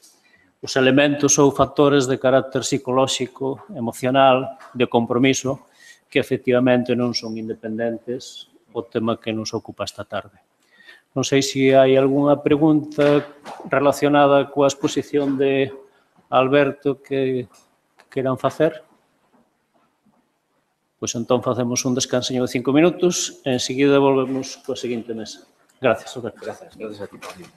os elementos ou factores de carácter psicolóxico, emocional, de compromiso, que efectivamente non son independentes o tema que nos ocupa esta tarde. Non sei se hai algunha pregunta relacionada coa exposición de Alberto que queiran facer. Pois entón facemos un descansiño de cinco minutos e enseguida volvemos coa seguinte mesa. Gracias, Alberto. Gracias, gracias a ti, Paulino.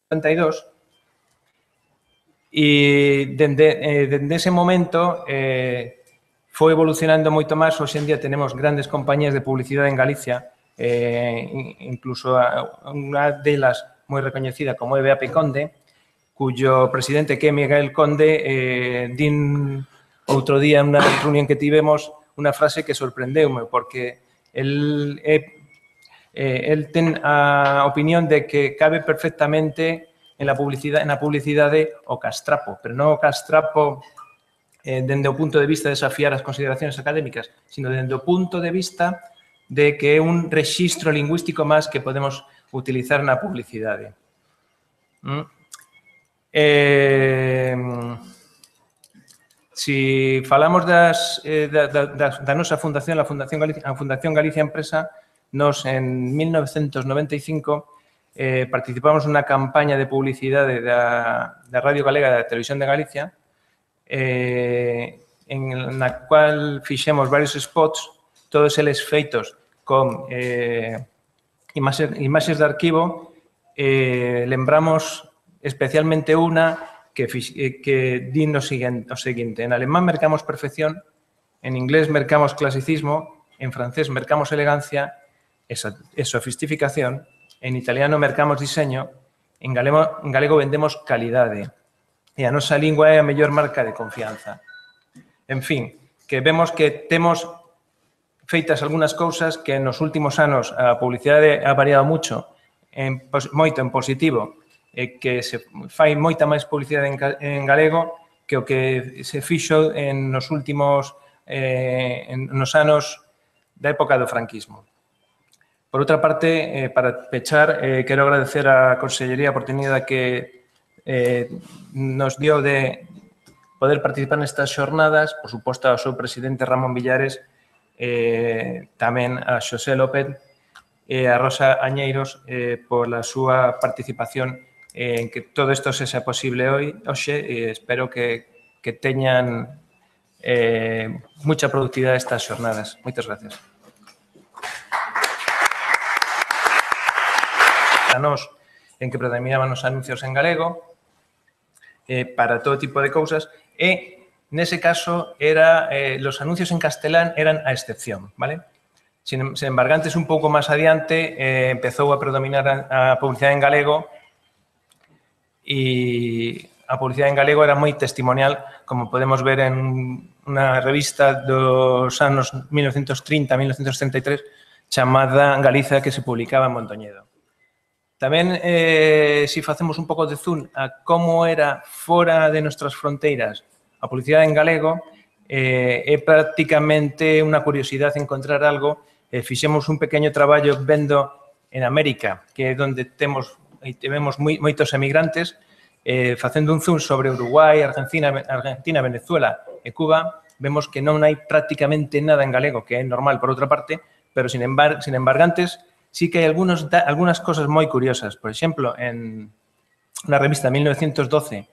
noventa y dos e dende, eh, dende ese momento eh, foi evolucionando moito máis. Hoxe en día tenemos grandes compañías de publicidade en Galicia, eh, incluso unha delas moi recoñecida como é B A P Conde, cuyo presidente que é Miguel Conde eh, din outro día en unha reunión que tivemos unha frase que sorprendeume, porque el, eh, eh, el ten a opinión de que cabe perfectamente en la publicidade, na publicidade o castrapo, pero non o castrapo eh, dende o punto de vista de desafiar as consideracións académicas, sino dende o punto de vista de que é un rexistro lingüístico máis que podemos utilizar na publicidade. Mm? Eh, si falamos das, eh, da, da, da nosa fundación, a Fundación Galicia, a Fundación Galicia Empresa, nos en mil novecentos noventa e cinco eh, participamos nunha campaña de publicidade da, da Radio Galega e da Televisión de Galicia, eh, en na cual fixemos varios spots, todos eles feitos con eh, imaxes, imaxes de arquivo. Eh, lembramos especialmente unha que, que di no seguinte, o seguinte: en alemán mercamos perfección, en inglés mercamos clasicismo, en francés mercamos elegancia e sofisticación, en italiano mercamos diseño, en galego, en galego vendemos calidade e a nosa lingua é a mellor marca de confianza. En fin, que vemos que temos feitas algunhas cousas que nos últimos anos a publicidade ha variado mucho, en, moito en positivo, e que se fai moita máis publicidade en, en galego que o que se fixo en nos últimos eh, en, nos anos da época do franquismo. Por outra parte, eh, para pechar, eh, quero agradecer á Consellería a oportunidade que eh, nos dio de poder participar nestas xornadas, por suposto ao seu presidente Ramón Villares, eh, tamén a Xosé López e a Rosa Añeiros eh, pola súa participación eh, en que todo isto sexa posible hoy, hoxe, e espero que, que teñan eh, mucha productividade estas xornadas. Moitas gracias. A nós, en que predominaban os anuncios en galego, eh, para todo tipo de cousas, e, nese caso, era, eh, los anuncios en castelán eran a excepción, vale? Sin, sin embargo, antes, un pouco máis adiante, eh, empezou a predominar a, a publicidade en galego e a publicidade en galego era moi testimonial, como podemos ver en unha revista dos anos mil novecientos trinta a mil novecientos treinta e tres chamada Galiza, que se publicaba en Mondoñedo. Tamén, eh, si facemos un pouco de zoom a como era fora de nuestras fronteiras a publicidade en galego, eh, é prácticamente unha curiosidade encontrar algo. Eh, fixemos un pequeño traballo vendo en América, que é onde temos e temos moi, moitos emigrantes, eh, facendo un zoom sobre Uruguai, Argentina, Argentina, Venezuela e Cuba, vemos que non hai prácticamente nada en galego, que é normal por outra parte, pero, sin embargo, sin embargantes, sí que hai algunos, algunas cosas moi curiosas. Por exemplo, en unha revista de mil novecientos doce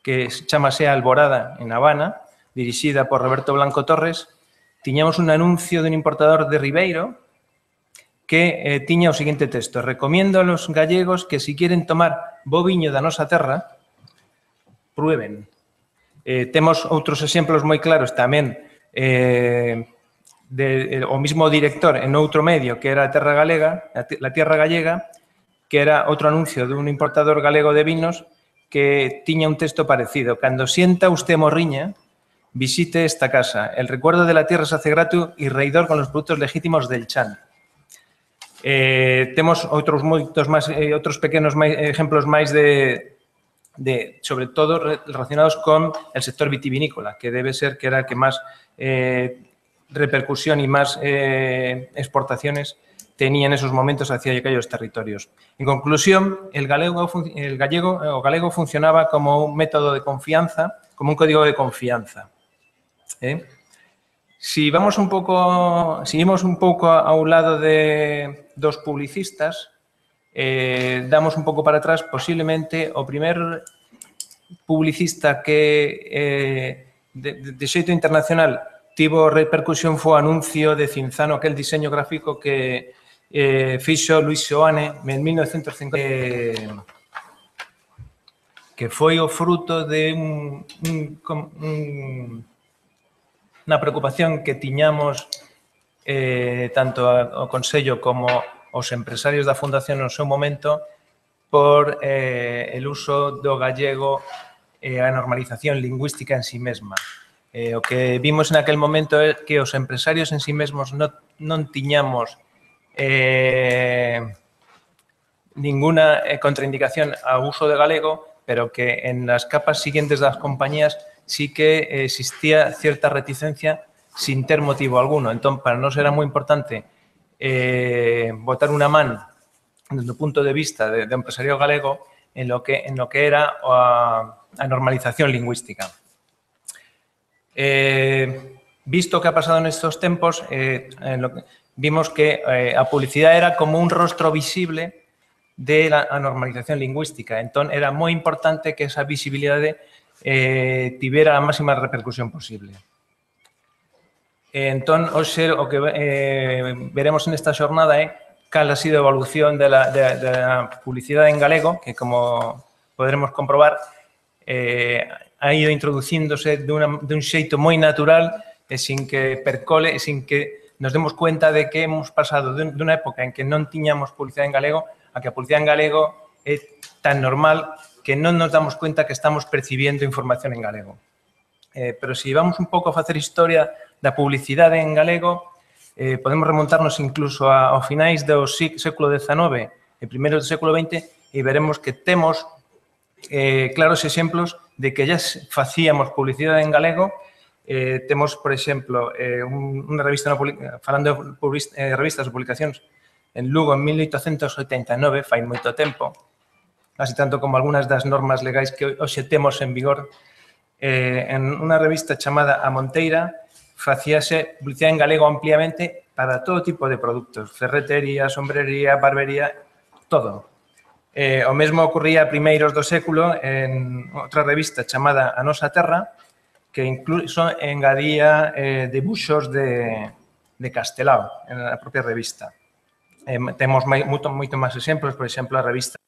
que chamase Alborada en Habana, dirixida por Roberto Blanco Torres, tiñamos un anuncio dun importador de Ribeiro que eh, tiña o seguinte texto: recomiendo a los gallegos que si quieren tomar bo viño da nosa terra, prueben. Eh, temos outros exemplos moi claros tamén eh, de, o mismo director en outro medio que era a Terra Galega, la Tierra Gallega, que era outro anuncio dun importador galego de vinos que tiña un texto parecido: cando sienta usted morriña, visite esta casa. El recuerdo de la tierra se hace grato y reidor con los productos legítimos del chan. Eh, temos outros moitos máis, eh, outros pequenos máis, exemplos máis de, de, sobre todo, relacionados con el sector vitivinícola, que debe ser que era el que máis eh, repercusión y máis eh, exportaciones tenía en esos momentos hacia aquellos territorios. En conclusión, el galego, el gallego, o galego funcionaba como un método de confianza, como un código de confianza. ¿Eh? Si vamos un pouco, seguimos un pouco a un lado de dos publicistas, eh, damos un pouco para atrás, posiblemente o primer publicista que eh, de, de xeito internacional tivo repercusión foi o anuncio de Cinzano, aquel diseño gráfico que eh, fixo Luis Seoane en mil novecientos cincuenta, eh, que foi o fruto de un, un, un unha preocupación que tiñamos eh, tanto o Consello como os empresarios da Fundación no seu momento por eh, el uso do gallego e eh, a normalización lingüística en sí mesma. Eh, o que vimos en aquel momento é que os empresarios en sí mesmos non, non tiñamos eh, ninguna contraindicación ao uso de galego, pero que en las capas siguientes das compañías sí que existía cierta reticencia sin ter motivo alguno. Entón, para nós era moi importante eh, botar unha man desde o punto de vista de, de empresario galego en lo que, en lo que era a, a normalización lingüística. Eh, visto que ha pasado nestes tempos, eh, en lo que, vimos que eh, a publicidade era como un rostro visible de la normalización lingüística. Entón, era moi importante que esa visibilidade eh, tivera a máxima repercusión posible. Entón, hoxe, o que eh, veremos nesta xornada é cal ha sido a evolución de la, de, de la publicidade en galego, que, como poderemos comprobar, eh, ha ido introducíndose de, una, de un xeito moi natural e sin que percole, e sin que nos demos cuenta de que hemos pasado de unha época en que non tiñamos publicidade en galego a que a publicidade en galego é tan normal que non nos damos cuenta que estamos percibiendo información en galego. Eh, pero se si vamos un pouco a facer historia da publicidade en galego, eh, podemos remontarnos incluso a, ao finais do século dezenove e primeiros do século vinte e veremos que temos eh, claros exemplos de que ya facíamos publicidade en galego. Eh, temos, por exemplo, eh, un, unha revista, no, falando de eh, revistas ou publicacións, en Lugo en mil oitocentos oitenta e nove, fai moito tempo, así tanto como algunhas das normas legais que hoxe temos en vigor. Eh, en unha revista chamada A Monteira facíase publicidade en galego ampliamente para todo tipo de produtos, ferretería, sombrería, barbería, todo. Eh, o mesmo ocurría a primeiros do século en outra revista chamada A Nosa Terra, que incluso engadía eh, debuxos de, de Castelao en a propia revista. Eh, temos moito, moito máis exemplos, por exemplo, a revista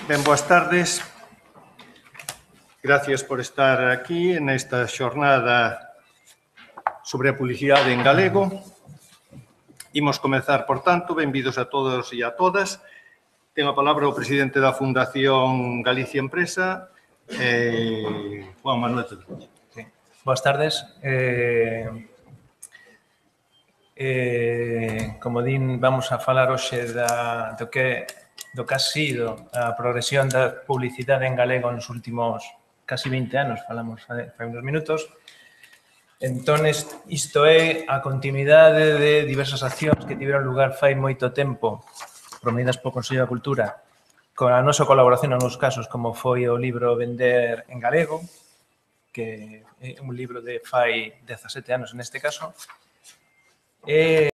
Ben, boas tardes. Gracias por estar aquí nesta xornada sobre a publicidade en galego. Imos comezar, por tanto, benvidos a todos e a todas. Ten a palabra o presidente da Fundación Galicia Empresa, eh, Juan Manuel Cedrón. Sí. Boas tardes. Eh, eh, como din, vamos a falar hoxe da, do que do que ha sido a progresión da publicidade en galego nos últimos casi vinte anos, falamos fai uns minutos. Entón, isto é a continuidade de diversas accións que tiveron lugar fai moito tempo, promovidas polo Consello da Cultura, con a nosa colaboración en algunos casos, como foi o libro Vender en Galego, que é un libro de fai dezasete anos neste caso, e